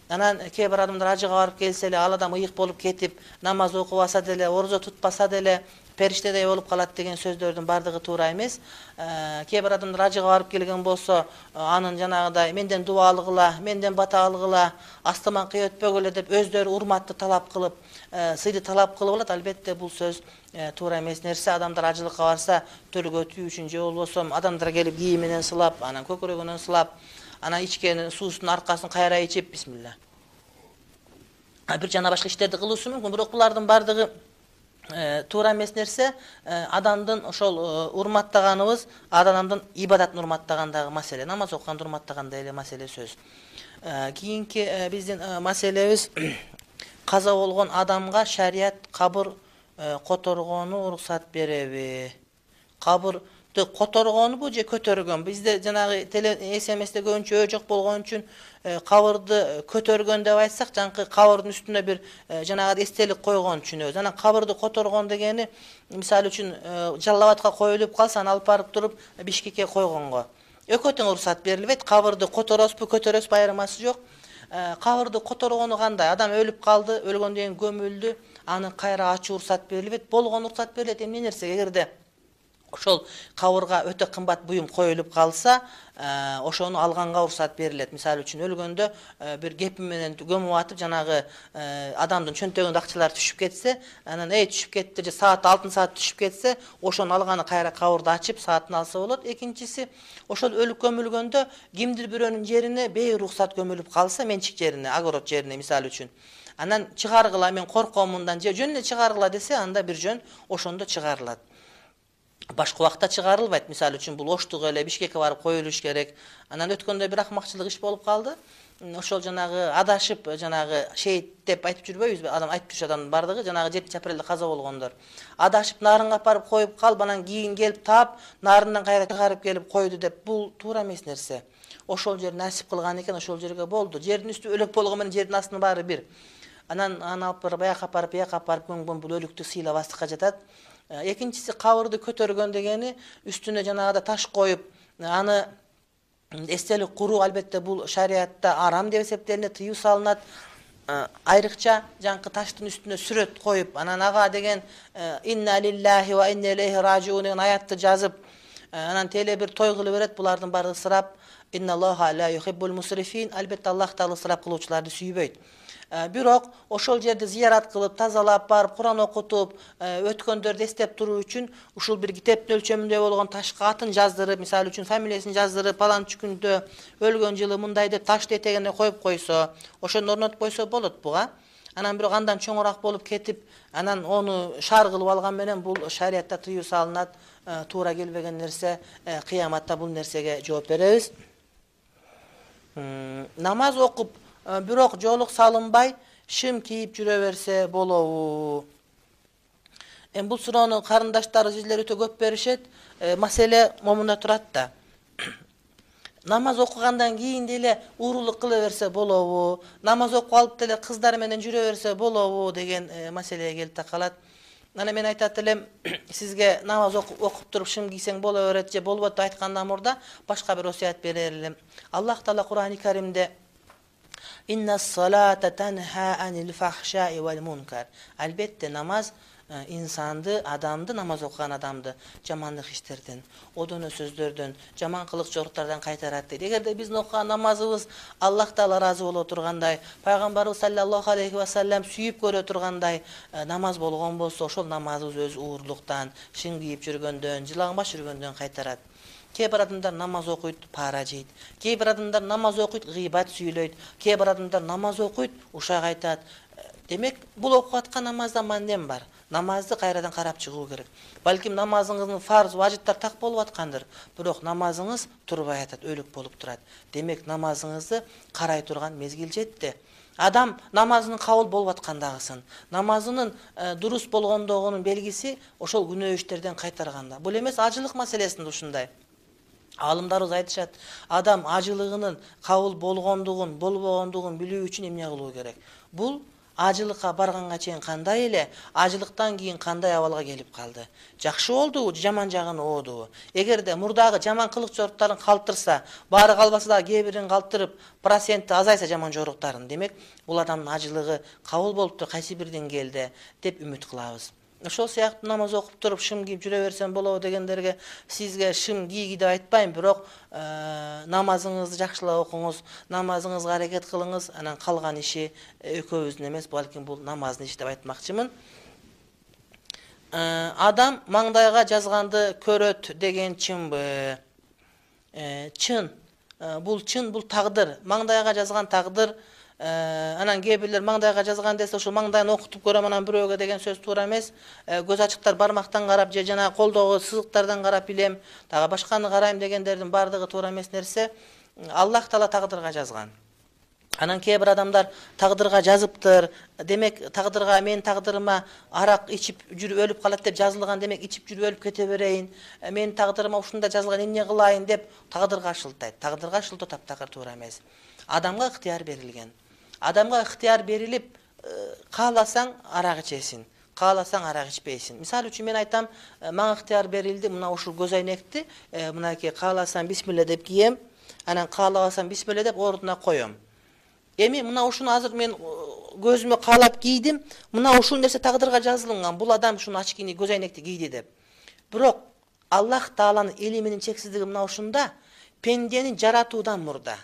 Анан кээ бир адамдар ажыга барып келсе эле, ал адам ыйык болуп кетип, намаз окубаса деле, орозо тутпаса деле периштедей болуп калат деген сөздөрдүн баардыгы туура эмес. Кээ бир адамдар ажыга барып келген болсо, анын жанагыдай менден дуа алгыла, менден бата алгыла, астыман кый өтпөгүлө деп өздөрү урматты талап кылып, сыйды талап кылып алат. Албетте бул сөз туура эмес нерсе. Адамдар ажылыкка барса, төлгө өтүү үчүн же болбосо адамдар келип кийим менен сылап, анан көкүрөгүнөн сылап, анан ичкен суусунун аркасын кайра ичип, бисмилла, бир жана башка иштерди кылуусу мүмкүн. Бирок булардын баардыгы туура эмес нерсе. Адамдын ошол урматтаганыбыз адамдын ибадатын урматтагандагы маселе, намаз окуганды урматтагандай эле маселе сөз. Кийинки биздин маселебиз каза болгон адамга шарият кабыр которгону уруксат береби? Кабыр которгонбу же көтөргөн? Бизде жанагы эс эм эсте көбүнчө өө жок болгон үчүн кабырды көтөргөн деп айтсак, жанкы кабырдын үстүнө бир жанагы эстелик койгон түшүнөбүз. Анан кабырды которгон дегени, мисалы үчүн, Жалал-Абадка коюлуп калса, аны алып барып туруп Бишкекке койгонго экөө тең уруксат берилбейт. Кабырды которосузбу, көтөрөсүзбү, айырмасы жок. Кабырды которгону кандай? Адам өлүп калды, өлгөндөн кийин көмүлдү, аны кайра ачуу уруксат берилбейт. Болгон уруксат берилет. Эмне нерсе? Эгерде ошол кабырга өтө кымбат буюм коюлуп калса, ошону алганга уруксат берилет. Мисалы үчүн, өлгөндө бир кепи менен көмүп атып, жанагы адамдын чөнтөгүндө акчалар түшүп кетсе, анан эй түшүп кетти же саат алтын саат түшүп кетсе, ошону алганы кайра кабырды ачып саатын алса болот. Экинчиси, ошол өлүп көмүлгөндө кимдир бирөөнүн жерине бейруксат көмүлүп калса, менчик жерине, огород жерине мисалы үчүн, анан чыгаргыла, мен корком мындан, же жөн эле чыгаргыла десе, анда бир жөн ошондо чыгарылат. Башка убакта чыгарылбайт. Мисалы үчүн, бул оштук эле Бишкекке барып коюлуш керек. Анан өткөндө бир акмакчылык иш болуп калды. Ошол жанагы адашып, жанагы шейит деп айтып жүрбөйбүзбү? Адам айтып жүрүш адамдын бардыгы жанагы жетинчи апрелде каза болгондор. Адашып нарынга барып коюп калып, анан кийин келип таап, нарындан кайра чыгарып келип койду деп, бул туура эмес нерсе. Ошол жер насип кылган экен, ошол жерге болду. Жердин үстү өлөк болгон менен жердин астынын баары бир. анан аны алып барып аяка апарып бияка апарып көңгөн бул өлүктү сыйлабастыкка жатат. Экинчиси кабырды көтөргөн дегени үстүнө жанагыда таш коюп аны эстелик куруу. Албетте бул шариатта арам деп эсептелинет, тыюу салынат. Айрыкча жаңкы таштын үстүнө сүрөт коюп, анан ага деген инна лиллахи ва инна илейхи ражиун деген аятты жазып, анан теле бир той кылып берет. Булардын баары ысырап. Инналлаха ла юхиббул мусрифин. Албетте Аллах таала ысырап кылуучуларды сүйбөйт. Бирок ошол жерди зиярат кылып, тазалап барып, Куран окутуп, өткөндөрдү эстеп туруу үчүн ушул бир китептин өлчөмүндө болгон ташка атын жаздырып, мисалы үчүн фамилиясын жаздырып, паланчы күндө өлгөн жылы мындай деп таштын этегине коюп койсо, ошону орнотуп койсо болот буга. Анан бирок андан чоңураак болуп кетип, анан ону шаар кылып алган менен бул шариатта тыюу салынат, туура келбеген нерсе. Кыяматта бул нерсеге жооп беребиз. Намаз окуп бирок жоолук салынбай шым кийип жүрө берсе болобу? Эми бул суроону карындаштар, изилер өтө көп беришет. Маселе момунда турат да. Намаз окугандан кийин деле уурулук кыла берсе болобу? Намаз окуп алып деле кыздар менен жүрө берсе болобу деген маселеге келип такалат. Анан мен айтат элем, сизге намаз окуп туруп шым кийсең боло берет же болбойт деп айткандан мурда башка бир осуят берер элем. Аллах таала Кур'ани Каримде Инна салата танха анил фахшаи вал мункар. Албетте намаз инсанды, адамды, намаз окуган адамды жамандык иштерден, одоно сөздөрдөн, жаман кылык жоруктардан кайтарат дейт. Эгерде биздин окуган намазыбыз Аллах таала ыраазы боло тургандай, пайгамбарыбыз саллаллаху алейхи ва саллям сүйүп көрө тургандай намаз болгон болсо, ошол намазыбыз өз уурлуктан, шын кийип жүргөндөн, жылаңбаш жүргөндөн кайтарат. Кээ бир адамдар намаз окуйт, пара жейт. Кээ бир адамдар намаз окуйт, гыйбат сүйлөйт. Кээ бир адамдар намаз окуйт, ушак айтат. Демек, бул окуп аткан намазда мандем бар. Намазды кайрадан карап чыгуу керек. Балким намазыңыздын фарз, важиптар так болуп аткандыр, бирок намазыңыз турбай атат, өлүк болуп турат. Демек, намазыңызды карай турган мезгил жетти. Адам намазынын кабыл болуп аткандагысын, намазынын дурус болгондугунун белгиси ошол күнөө иштерден кайтарганда. Бул эмес ажылык маселесинде ушундай. Алымдарыбыз айтышат, адам ажылыгынын кабыл болгондугун, болбогондугун билүү үчүн эмне кылуу керек? Бул ажылыкка барганга чейин кандай эле, ажылыктан кийин кандай абалга келип калды? Жакшы болдубу, жаман жагын оодубу? Эгерде мурдагы жаман кылык жоруктарын калтырса, баары калбаса да кээ бирин калтырып, проценти азайса жаман жоруктарын, демек бул адамдын ажылыгы кабыл болуптур кайсы бир деңгээлде деп үмүт кылабыз. Ошол сыяктуу намаз окуп туруп шым кийип жүрө берсем болобу дегендерге сизге шым кийги деп айтпайм, бирок намазыңызды жакшылап окуңуз, намазыңызга аракет кылыңыз, анан калган иши экөөбүздүн эмес, балким бул намаздын иши деп айтмакчымын. Адам маңдайга жазганды көрөт деген чынбы? Чын. Бул чын, бул тагдыр. Маңдайга жазган тагдыр. Анан кээ бирлер маңдайга жазган десе, ошол маңдайын окутуп көрөм, анан бирөөгө деген сөз туура эмес. Көз ачыктар бармактан карап же жана колдогу сызыктардан карап билем, дагы башканы карайм дегендердин баардыгы туура эмес нерсе. Аллах таала тагдырга жазган. Анан кээ бир адамдар тагдырга жазыптыр. Демек, тагдырга мен тагдырыма арак ичип жүрүп өлүп калат деп жазылган, демек ичип жүрүп өлүп кете берейин. Мен тагдырыма ушунда жазылган, эмне кылайын деп тагдырга шылтайт. Тагдырга шылтоо таптакыр туура эмес. Адамга ыктыяр берилген. Адамга ыктыяр берилип, кааласаң арак ичесиң, кааласаң арак ичпейсиң. Мисалы үчүн мен айтам, мага ыктыяр берилди, мына ушул көз айнекти, мынакей кааласам бисмилла деп кием, анан каалабасам бисмилла деп ордуна коем. Эми мына ушуну азыр мен көзүмө каалап кийдим, мына ушул нерсе тагдырга жазылган, бул адам ушуну очкини, көз айнекти кийди деп. Бирок Аллах тааланын илиминин чексиздиги мына ушунда, пендени жаратуудан мурда,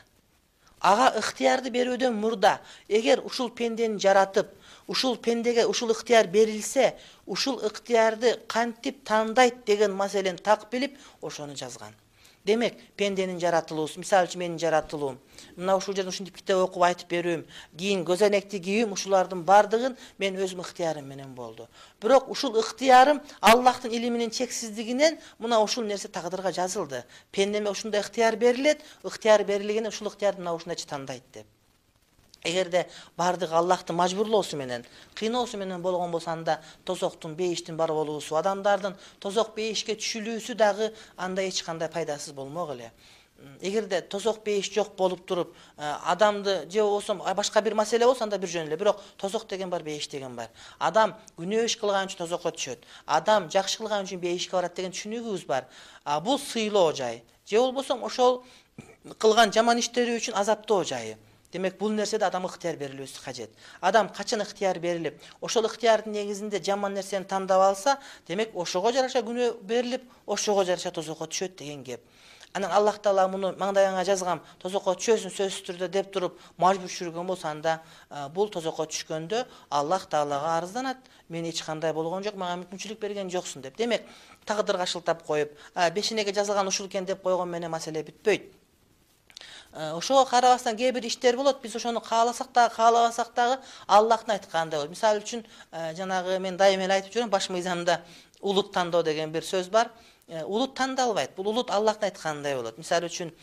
ага ыктыярды берүүдөн мурда, эгер ушул пендени жаратып, ушул пендеге ушул ыктыяр берилсе, ушул ыктыярды кантип тандайт деген маселени так билип, ошону жазган. Демек, пенденин жаратылуусу, мисалы үчүн менин жаратылуум, мына ушул жерде ушинтип китеп окуп айтып берүүм, кийин көз айнекти кийүүм, ушулардын бардыгын мен өзүм ыктыярым менен болду. Бирок ушул ыктыярым Аллахтын илиминин чексиздигинен мына ушул нерсе тагдырга жазылды. Пендеме ушундай ыктыяр берилет, ыктыяр берилгенде ушул ыктыярды мына ушундайча тандайт деп. Эгерде бардыгы Аллахтын мажбурлоосу менен, кыйноосу менен болгон болсо, анда тозоктун, бейиштин бар болуусу, адамдардын тозок бейишке түшүлүүсү дагы анда эч кандай пайдасыз болмок эле. эгерде тозок бейиш жок болуп туруп адамды же болбосо башка бир маселе болсо анда бир жөн эле, бирок тозок деген бар, бейиш деген бар. Адам күнөө иш кылган үчүн тозокко түшөт, адам жакшы кылган үчүн бейишке барат деген түшүнүгүбүз бар. Бул сыйлоо жай, же болбосо ошол кылган жаман иштери үчүн азаптоо жайы. Демек бул нерседе адамга ыктыяр берилүүсү кажет. Адам качан ыктыяр берилип, ошол ыктыярдын негизинде жаман нерсени тандап алса, демек ошого жараша күнөө берилип, ошого жараша тозокко түшөт деген кеп. Анан Аллах Таала муну маңдайыңа жазгам, тозокко түшөсүң сөзсүз түрдө деп туруп мажбур түшүргөн болсо, анда бул тозокко түшкөндө Аллах Таалага арызданат. Мен эч кандай болгон жок, мага мүмкүнчүлүк берген жоксуң деп. Демек, тагдырга шылтап коюп, бешенеге жазылган ушул экен деп койгон менен маселе бүтпөйт. Ошого карабастан кээ бир иштер болот, биз ошону кааласак дагы, каалабасак дагы Аллахтын айткандай болот. Мисалы үчүн, жанагы мен дайыма эле айтып жүрөм, баш мыйзамда улут тандоо деген бир сөз бар. Улут тандалбайт. Бул улут Аллахтын айткандай болот. Мисалы үчүн,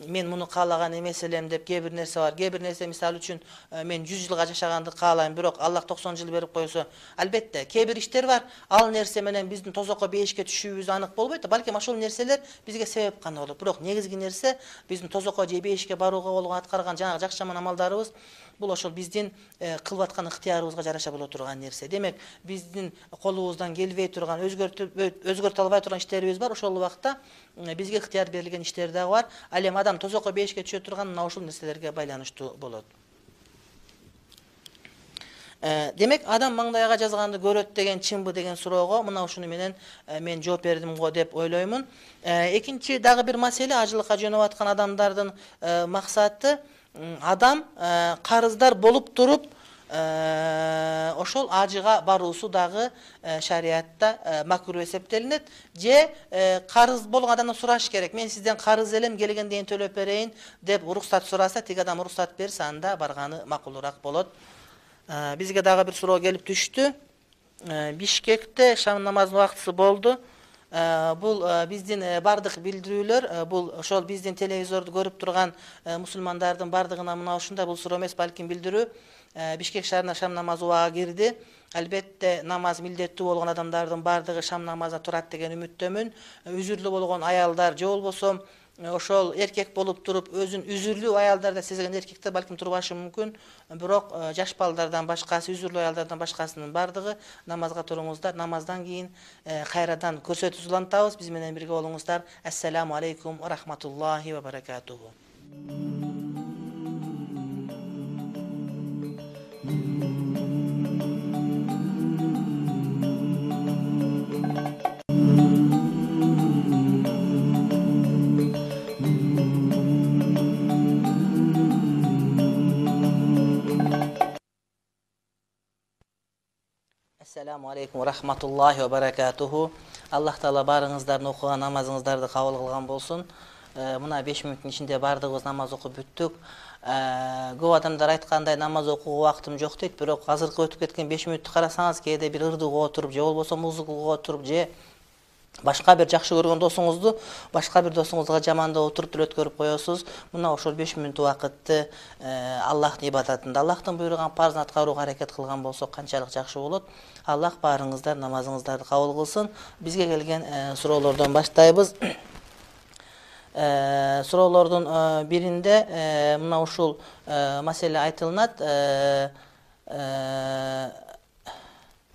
мен муну каалаган эмес элем деп кээ бир нерсе бар. Кээ бир нерсе, мисалы үчүн, мен жүз жылга жашаганды каалайм, бирок Аллах токсон жыл берип койсо, албетте, кээ бир иштер бар. Ал нерсе менен биздин тозокко бейишке түшүүбүз анык болбойт. Балким ошол нерселер бизге себеп гана болот. Бирок негизги нерсе биздин тозокко же бейишке барууга болгон аткарган жанагы жакшы жаман амалдарыбыз, бул ошол биздин кылып аткан ыктыярыбызга жараша боло турган нерсе. Демек, биздин колубуздан келбей турган, өзгөртө албай турган иштерибиз бар. Ошол убакта бизге ыктыяр берилген иштер дагы бар. Ал эми адам тозокко бейишке түшө турган мына ушул нерселерге байланыштуу болот. Демек, адам маңдайга жазганды көрөт деген чынбы деген суроого мына ушуну менен мен жооп бердим го деп ойлоймун. Экинчи дагы бир маселе, ажылыкка жөнөп аткан адамдардын максаты, адам карыздар болуп туруп ошол ажыга баруусу дагы шариатта макруh эсептелинет. Же карыз болгон адамдан сураш керек. Мен сизден карыз элем, келгенден төлөп берейин деп уруксат сураса, тиги адам уруксат берсе, анда барганы макулураак болот. Бизге дагы бир суроо келип түштү. Бишкекте шам намазынын убактысы болду. Бул биздин бардык билдирүүлөр, бул ошол биздин телевизорду көрүп турган мусулмандардын бардыгына мына ушундай, бул суроо эмес, балким билдирүү. Бишкек шаарына шам намазы убагы кирди. Албетте, намаз милдеттүү болгон адамдардын бардыгы шам намазына турат деген үмүттөмүн. Үзүрлүү болгон аялдар же болбосо ошол эркек болуп туруп, өзүн үзүрлүү аялдарда сезген эркектер балким турбашы мүмкүн. Бирок жаш балдардан башкасы, үзүрлүү аялдардан башкасынын бардыгы намазга туруңуздар. Намаздан кийин кайрадан көрсөтүү улантабыз. Биз менен бирге болуңуздар. Ассаламу алейкум ва рахматуллахи ва баракатуху. Assalamu alaikum wa rahmatullahi wa barakatuhu. Аллах Таала барыңыздардын окуган намазыңыздарды кабыл кылган болсун. Мына беш мүнөттүн ичинде бардыгыбыз намаз окуп бүттүк. Көп адамдар айткандай намаз окууга убактым жок дейт, бирок азыркы өтүп кеткен беш мүнөттү карасаңыз, кээде бир ырдууга отуруп, же болбосо музыкага отуруп, же башка бир жакшы көргөн досуңузду башка бир досуңузга жамандап отуруп тил өткөрүп коесуз. Мына ошол беш мүнөт убакытты Аллахтын ибадатында, Аллахтын буйруган парзын аткарууга аракет кылган болсок канчалык жакшы болот. Аллах баарыңыздар намазыңыздарды кабыл кылсын. Бизге келген суроолордон баштайбыз. Суроолордун биринде мына ушул маселе айтылынат.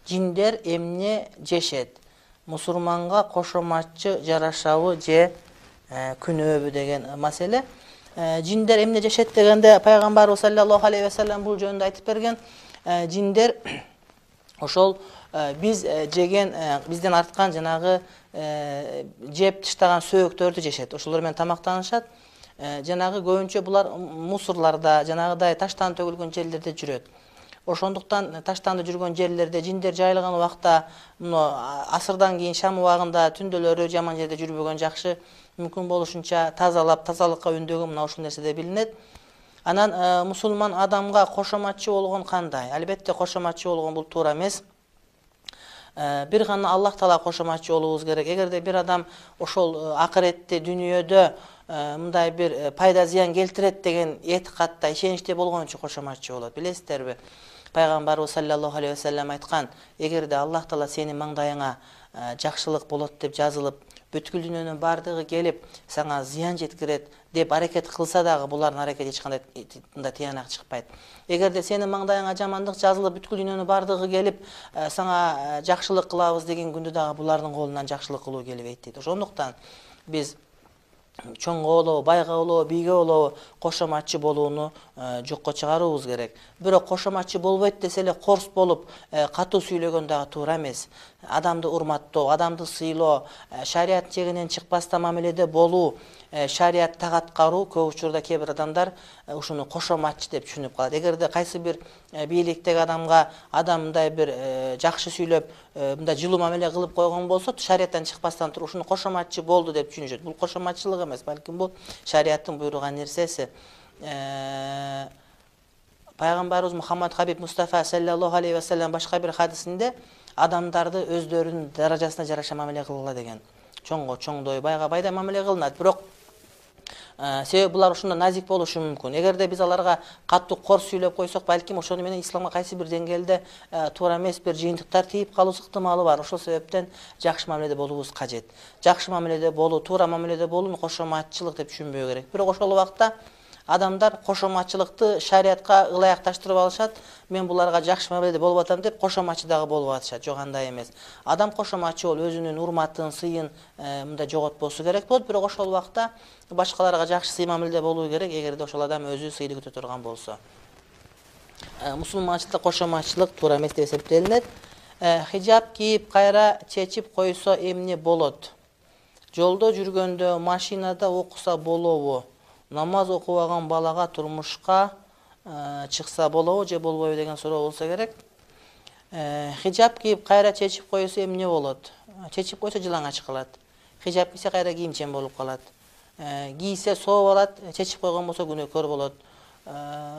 Жиндер эмне жешет? Мусулманга кошоматчы жарашабы же күнөөбү деген маселе. Жиндер эмне жешет дегенде пайгамбарыбыз саллаллаху алейхи ва саллям бул жөнүндө айтып берген. Жиндер ошол биз жеген, бизден арткан жанагы жеп таштаган сөөктөрдү жешет. Ошолор менен тамактанышат. Жанагы көбүнчө булар мусурларда, жанагыдай таштан төгүлгөн жерлерде жүрөт. Ошондуктан таштанды жүргөн жерлерде жиндер жайылган убакта, мына асырдан кийин шам убагында түндөлөрү жаман жерде жүрбөгөн жакшы, мүмкүн болушунча тазалап, тазалыкка үндөгөн мына ушул нерседе билинет. Анан мусулман адамга кошоматчы болгон кандай? Албетте кошоматчы болгон бул туура эмес. Бир гана Аллах Таала кошоматчы болуубуз керек. Эгерде бир адам ошол акыретте, дүйнөдө мындай бир пайда зыян келтирет деген этикатта, ишеничте болгон үчүн кошоматчы болот. Билесиздерби? Пайгамбарыбыз саллаллаху алейхи ва саллям айткан, эгерде Аллах Таала сенин маңдайыңа жакшылык болот деп жазылып, бүткүл дүйнөнүн баардыгы келип сага зыян жеткирет деп аракет кылса дагы булардын аракети эч кандай мындай тыянак чыкпайт. Эгерде сенин маңдайыңа жамандык жазылып бүткүл дүйнөнүн баардыгы келип сага жакшылык кылабыз деген күндө дагы булардын колунан жакшылык кылуу келбейт дейт. Ошондуктан биз чоңго болобу, байга болобу, бийге болобу кошоматчы болууну жокко чыгаруубуз керек. Бирок кошоматчы болбойт десе эле корс болуп катуу сүйлөгөн дагы туура эмес. Адамды урматтоо, адамды сыйлоо, шарият чегинен чыкпастан мамиледе болуу, шарият так аткаруу көп учурда кээ бир адамдар ушуну кошоматчы деп түшүнүп калат. Эгерде кайсы бир бийликтеги адамга адам мындай бир жакшы сүйлөп, мындай жылуу мамиле кылып койгон болсо, шарияттан чыкпастан туруп ушуну кошоматчы болду деп түшүнүшөт. Бул кошоматчылык эмес, балким бул шарияттын буйруган нерсеси. Пайгамбарыбыз Мухаммад Хабиб Мустафа саллаллаху алейхи ва саллям башка бир хадисинде адамдарды өздөрүнүн даражасына жараша мамиле кылгыла деген. Чоңго чоңдой, байга байдай мамиле кылынат. Бирок себеби булар ушунда назик болушу мүмкүн. Эгерде биз аларга катуу корс сүйлөп койсок, балким ошону менен исламга кайсы бир деңгээлде туура эмес бир жыйынтыктар тийип калуусу ыктымалы бар. Ошол себептен жакшы мамиледе болуубуз кажет. Жакшы мамиледе болуу, туура мамиледе болууну кошоматчылык деп түшүнбөө керек. Бирок ошол убакта адамдар кошоматчылыкты шариятка ылайыкташтырып алышат. Мен буларга жакшы мамиледе болуп атам деп кошоматчы дагы болуп атышат. Жок, андай эмес. Адам кошоматчы болуп өзүнүн урматын, сыйын мындай жоготпосу керек болот. Бирок ошол убакта башкаларга жакшы сый мамиледе болуу керек, эгерде ошол адам өзү сыйды күтө турган болсо. Мусулманчылыкта кошоматчылык туура эмес деп эсептелинет. Хижаб кийип кайра чечип койсо эмне болот? Жолдо жүргөндө, машинада окуса болобу? Намаз окубаган балага турмушка чыкса болобу же болбойбу деген суроо болсо керек. Хижаб кийип кайра чечип койсо эмне болот? Чечип койсо жылаңач кылат. Хижаб кийсе кайра кийимчен болуп калат. Кийсе сооп алат, чечип койгон болсо күнөөкөр болот.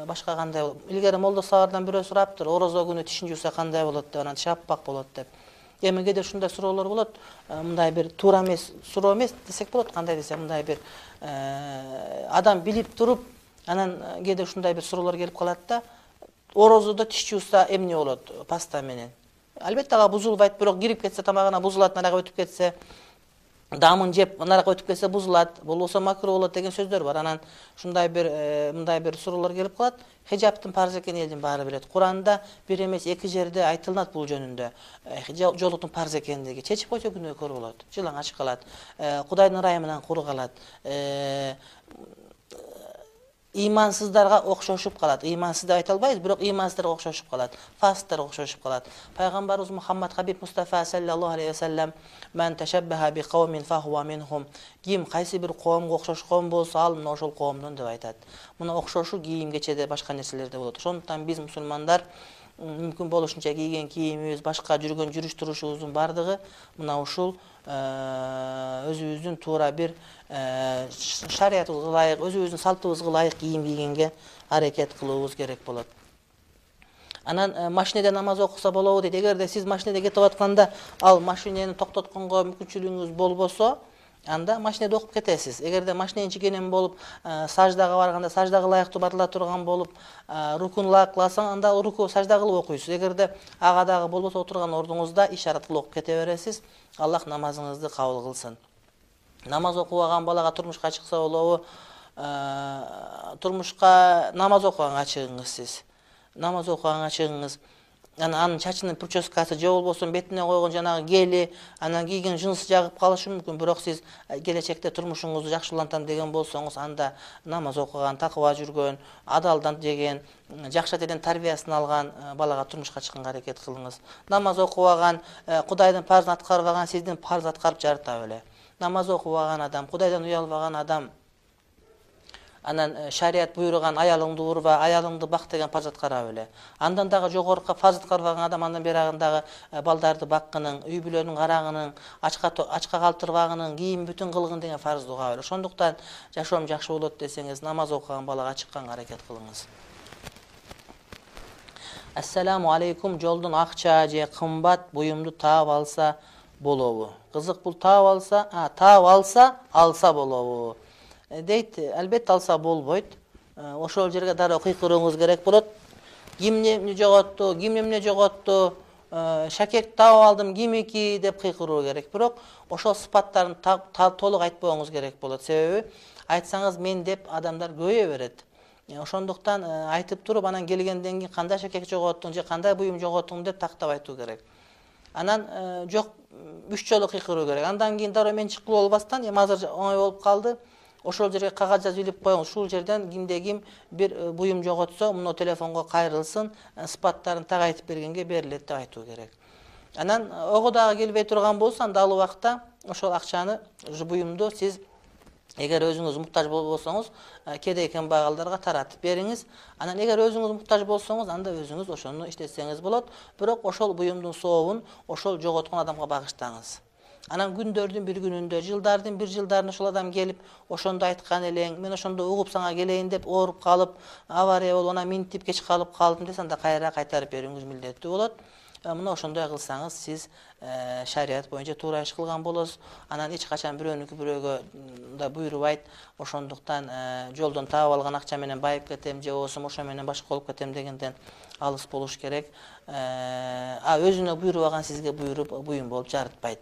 Башка кандай болот? Илгери молдо сабардан бирөө сураптыр, орозо күнү тишин жууса кандай болот деп, анан тиши аппак болот деп. Эми кээде ушундай суроолор болот. Мындай бир туура эмес, суроо эмес десек болот, кандай десе, мындай бир адам билип туруп, анан кээде ушундай бир суроолор келип калат да, орозодо тиш жууса эмне болот паста менен? Албетте ага бузулбайт, бирок кирип кетсе тамагына бузулат, нарага өтүп кетсе, дамын жеп нарага өтүп кетсе бузулат, болбосо макруу болот деген сөздөр бар. Анан ушундай бир мындай бир суроолор келип калат. Хижабтын парз экенин элдин баары билет. Куранда бир эмес эки жерде айтылат бул жөнүндө. Жолуктун парз экендиги. Чечип койсо күнөөкөр болот, жылаңач калат, Кудайдын ырайы менен куру калат. Имансыздарга окшошуп калат. Имансыз деп айта албайбыз, бирок имансыздарга окшошуп калат. Фасиктарга окшошуп калат. Пайгамбарыбыз Мухаммад Хабиб Мустафа саллаллаху алейхи ва саллям "Ман ташаббаха би кавмин фахуа минхум". Ким кайсы бир коомго окшошкон болсо, ал мына ошол коомдон деп айтат. Мына окшошу кийим кечеде, башка нерселерде болот. Ошондуктан биз мусулмандар мүмкүн болушунча кийген кийимибиз, башка жүргөн жүрүш турушубуздун бардыгы мына ушул өзүбүздүн туура бир шариятыбызга ылайык, өзүбүздүн салтыбызга ылайык кийим кийгенге аракет кылуубуз керек болот. Анан машинеде намаз окуса болобу дейт. Эгерде сиз машинеде кетип атканда ал машинени токтотконго мүмкүнчүлүгүңүз болбосо, анда машинеде окуп кетесиз. Эгерде машиненин ичинен болуп, саждага барганда саждага ылайыктуу барыла турган болуп, рукуну ылайык кыласаң, анда руку сажда кылып окуйсуз. Эгерде ага дагы болбосо, отурган ордуңузда ишарат кылып окуп кете бересиз. Аллах намазыңызды кабыл кылсын. Намаз окубаган балага турмушка чыкса болобу? Турмушка намаз окуганга чыгыңыз сиз. Намаз окуганга чыгыңыз. Анан чачынын прическасы же болбосо бетине койгон жанагы гели, анан кийген жынсы жагып калышы мүмкүн. Бирок сиз келечекте турмушуңузду жакшылантам деген болсоңуз, анда намаз окуган, такыба жүргөн, адалдан жеген, жакшы атеден тарбиясын алган балага турмушка чыкканга аракет кылыңыз. Намаз окубаган, Кудайдын парзын аткарбаган сиздин парз аткарып жарыта беле. Намаз окубаган адам, Кудайдан уялбаган адам, анан шарият буйруган аялыңды урба, аялыңды бак деген парз аткара беле. Андан дагы жогорку парз аткарбаган адам андан берагындагы балдарды баккынын, үй бүлөнүн карагынын, ачка ачка калтырбагынын, кийим бүтүн кылгын деген парзды уга беле. Ошондуктан жашоом жакшы болот десеңиз, намаз окуган балага чыкканга аракет кылыңыз. Ассаламу алейкум, жолдон акча же кымбат буюмду таап алса болобу? Кызык, бул таап алса, а, таап алса, алса болобу дейт. Албетте алса болбойт. Ошол жерге дароо кыйкырууңуз керек болот. Ким эмне жоготту, ким эмне жоготту, шакек таап алдым кимики деп кыйкыруу керек. Бирок ошол сыпаттарын толук айтпооңуз керек болот. Себеби айтсаңыз мен деп адамдар көбөйө берет. Ошондуктан айтып туруп, анан келгенден кийин кандай шакек жоготтуң же кандай буюм жоготтуң деп тактап айтуу керек. Анан жок үч жолу кыйкыруу керек. Андан кийин дароо мен чыккылуу болбастан, эми азыр оңой болуп калды. Ошол жерге кагаз жазып илип коюңуз. Ушул жерден кимде ким бир буюм жоготсо, муну телефонго кайрылсын, сыпаттарын так айтып бергенге берилет деп айтуу керек. Анан ого дагы келбей турган болсо, анда ал убакта ошол акчаны, буюмду сиз эгер өзүңүз муктаж болбосоңуз, кедей кембагалдарга таратып бериңиз. Анан эгер өзүңүз муктаж болсоңуз, анда өзүңүз ошону иштетсеңиз болот. Бирок ошол буюмдун сообун ошол жоготкон адамга багыштаңыз. Анан күндөрдүн бир күнүндө, жылдардын бир жылдарында ошол адам келип, ошондо айткан элең, мен ошондо угуп сага келейин деп ооруп калып, авария болуп, анан минтип кеч калып калдым десе, анда кайра кайтарып берүүңүз милдеттүү болот. Мына ошондой кылсаңыз, сиз шарият боюнча туура иш кылган болосуз. Анан эч качан бирөөнүкү бирөөгө да буйрубайт. Ошондуктан жолдон таап алган акча менен байып кетем же болбосо ошо менен башка болуп кетем дегенден алыс болуш керек. А өзүнө буйрубаган сизге буйруп буюм болуп жарытпайт.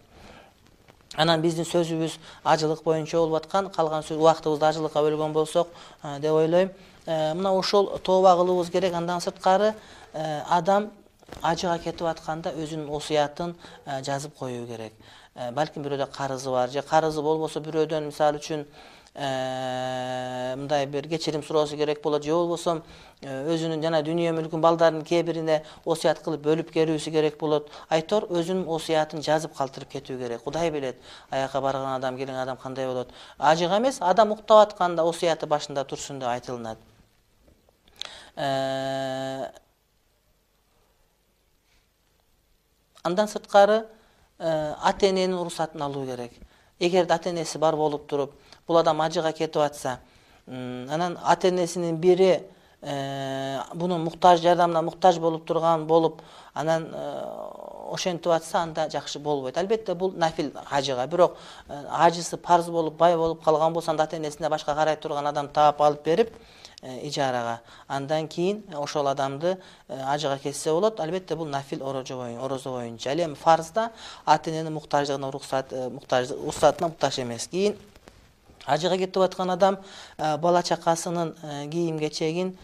Анан биздин сөзүбүз ажылык боюнча болуп аткан, калган убактыбызды ажылыкка бөлгөн болсок деп ойлойм. Мына ошол тооба кылуубуз керек. Андан сырткары адам ажыга кетип атканда өзүнүн осуятын жазып коюу керек. Балким бирөөдө карызы бар же карызы болбосо бирөөдөн мисалы үчүн мындай бир кечирим суроосу керек болот же болбосо өзүнүн жана дүйнө мүлкүн балдарынын кээ бирине осуят кылып бөлүп берүүсү керек болот. Айтор өзүнүн осуятын жазып калтырып кетүү керек. Кудай билет, аякка барган адам, келген адам кандай болот. Ажыга эмес, адам уктап атканда осуяты башында турсун деп айтылынат. Андан сырткары ата-эненин уруксатын алуу керек. Эгер ата-энеси бар болуп туруп, бул адам ажыга кетип атса, анан ата-энесинин бири бунун муктаж жардамына муктаж болуп турган болуп, анан ошентип атса, анда жакшы болбойт. Албетте бул нафил ажыга, бирок ажысы парз болуп, бай болуп калган болсо, анда ата-энесине башка карай турган адам таап алып берип ижарага, андан кийин ошол адамды ажыга кетсе болот. Албетте бул нафил орозо боюнча. Ал эми фарзда ата-эненин муктаждыгына уруксат уруксатына муктаж эмес. Кийин ажыга кетип аткан адам бала чакасынын кийим-кечегин,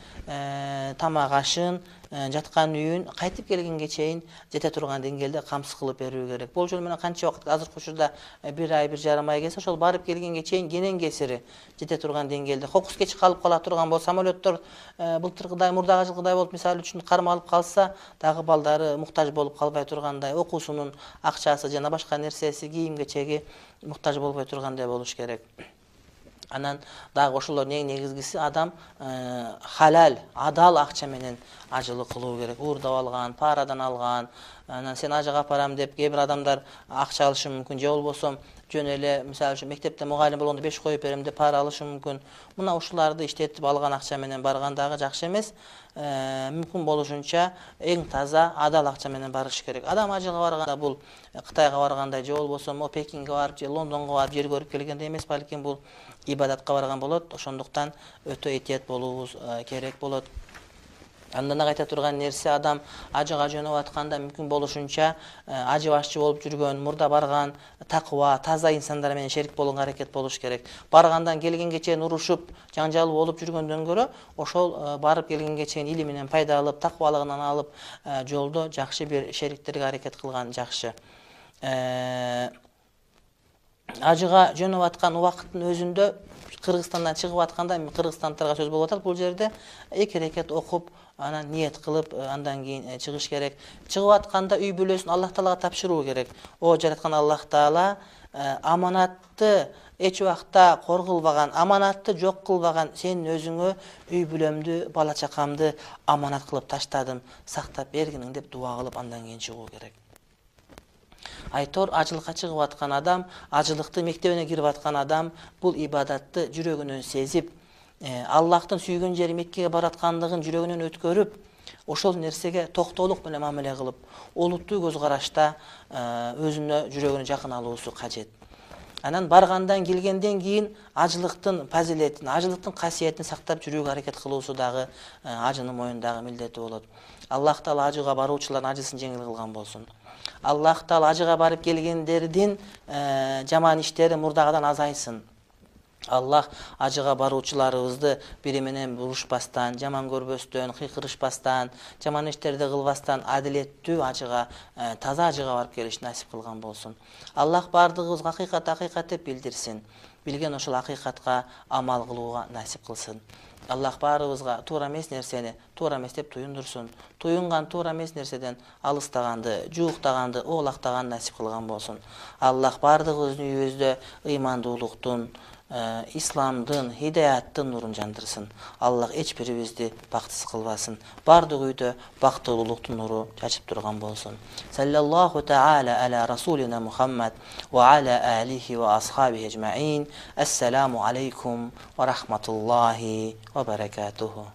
тамак-ашын, жаткан үйүн кайтып келгенге чейин жете турган деңгээлде камсыз кылып берүү керек. Бул жол менен канча убакыт, азыркы учурда бир ай, бир жарым ай келсе, ошол барып келгенге чейин кенен кесири жете турган деңгээлде. Кокус кеч калып кала турган болсо, самолеттор былтыркыдай, мурдагы жылкыдай болуп, мисалы үчүн кармалып калса, дагы балдары муктаж болуп калбай тургандай, окуусунун акчасы жана башка нерсеси, кийим-кечеги муктаж болбой тургандай болуш керек. Анан дагы ошолордун эң негизгиси адам халал, адал акча менен ажылык кылуу керек. Уурдап алган, парадан алган, анан сен ажыга апарам деп кээ бир адамдар акча алышы мүмкүн, же болбосо жөн эле мисалы үчүн мектепте мугалим болгондо беш коюп берем деп пара алышы мүмкүн. Мына ушуларды иштетип алган акча менен барган дагы жакшы эмес. Мүмкүн болушунча эң таза, адал акча менен барыш керек. Адам ажыга барганда бул Кытайга баргандай же болбосо мо Пекинге барып же Лондонго барып жер көрүп келгендей эмес, балким бул ибадатка барган болот. Ошондуктан өтө этият болуубуз керек болот. Андан кайта турган нерсе, адам ажыга жөнөп атканда мүмкүн болушунча ажы башчы болуп жүргөн, мурда барган такыба, таза инсандар менен шерик болгонго аракет болуш керек. Баргандан келгенге чейин урушуп, жаңжал болуп жүргөндөн көрө, ошол барып келгенге чейин илим менен пайда алып, такыбалыгынан алып, жолдо жакшы бир шериктерге аракет кылган жакшы. Ажыга жөнөп аткан убакыттын өзүндө Кыргызстандан чыгып атканда, кыргызстандыктарга сөз болуп атат, бул жерде эки рекет окуп, анан ниет кылып, андан кийин чыгыш керек. Чыгып атканда үй бүлөсүн Аллах Таалага тапшыруу керек. О жараткан Аллах Таала аманатты эч убакта коргулбаган, аманатты жок кылбаган сенин өзүңө үй бүлөмдү, бала чакамды аманат кылып таштадым, сактап бергиниң деп дуа кылып андан кийин чыгуу керек. Айтор ажылыкка чыгып аткан адам, ажылыкты мектебине кирип аткан адам бул ибадатты жүрөгүнөн сезип, Аллахтын сүйгөн жери Меккеге бараткандыгын жүрөгүнөн өткөрүп, ошол нерсеге токтоолук менен мамиле кылып, олуттуу көз карашта өзүнө жүрөгүнө жакын алуусу кажет. Анан баргандан келгенден кийин ажылыктын фазилетин, ажылыктын касиетин сактап жүрүүгө аракет кылуусу дагы ажынын мойнундагы милдети болот. Аллах Таала ажыга баруучулардын ажысын жеңил кылган болсун. Аллах Таала ажыга барып келгендердин жаман иштери мурдагыдан азайсын. Аллах ажыга баруучуларыбызды бири менен урушпастан, жаман көрбөстөн, кыйкырышпастан, жаман иштерди кылбастан адилеттүү ажыга, таза ажыга барып келишти насип кылган болсун. Аллах бардыгыбызга акыйкат акыйкат деп билдирсин. Билген ошол акыйкатка амал кылууга насип кылсын. Аллах баарыбызга туура эмес нерсени туура эмес деп туюндурсун. Туюнган туура эмес нерседен алыстаганды, жууктаганды, оолактаганды насип кылган болсун. Аллах бардыгыбыздын үйүбүздө ыймандуулуктун, исламдын, хидаяттын нурун жандырсын. Аллах эч бирибизди бактысыз кылбасын. Бардык үйдө бактылуулуктун нуру чачып турган болсун. Саллаллаху таала аля расулина Мухаммад ва аля алихи ва асхабихи ажмаин. Ассаламу алейкум ва рахматуллахи ва баракатуху.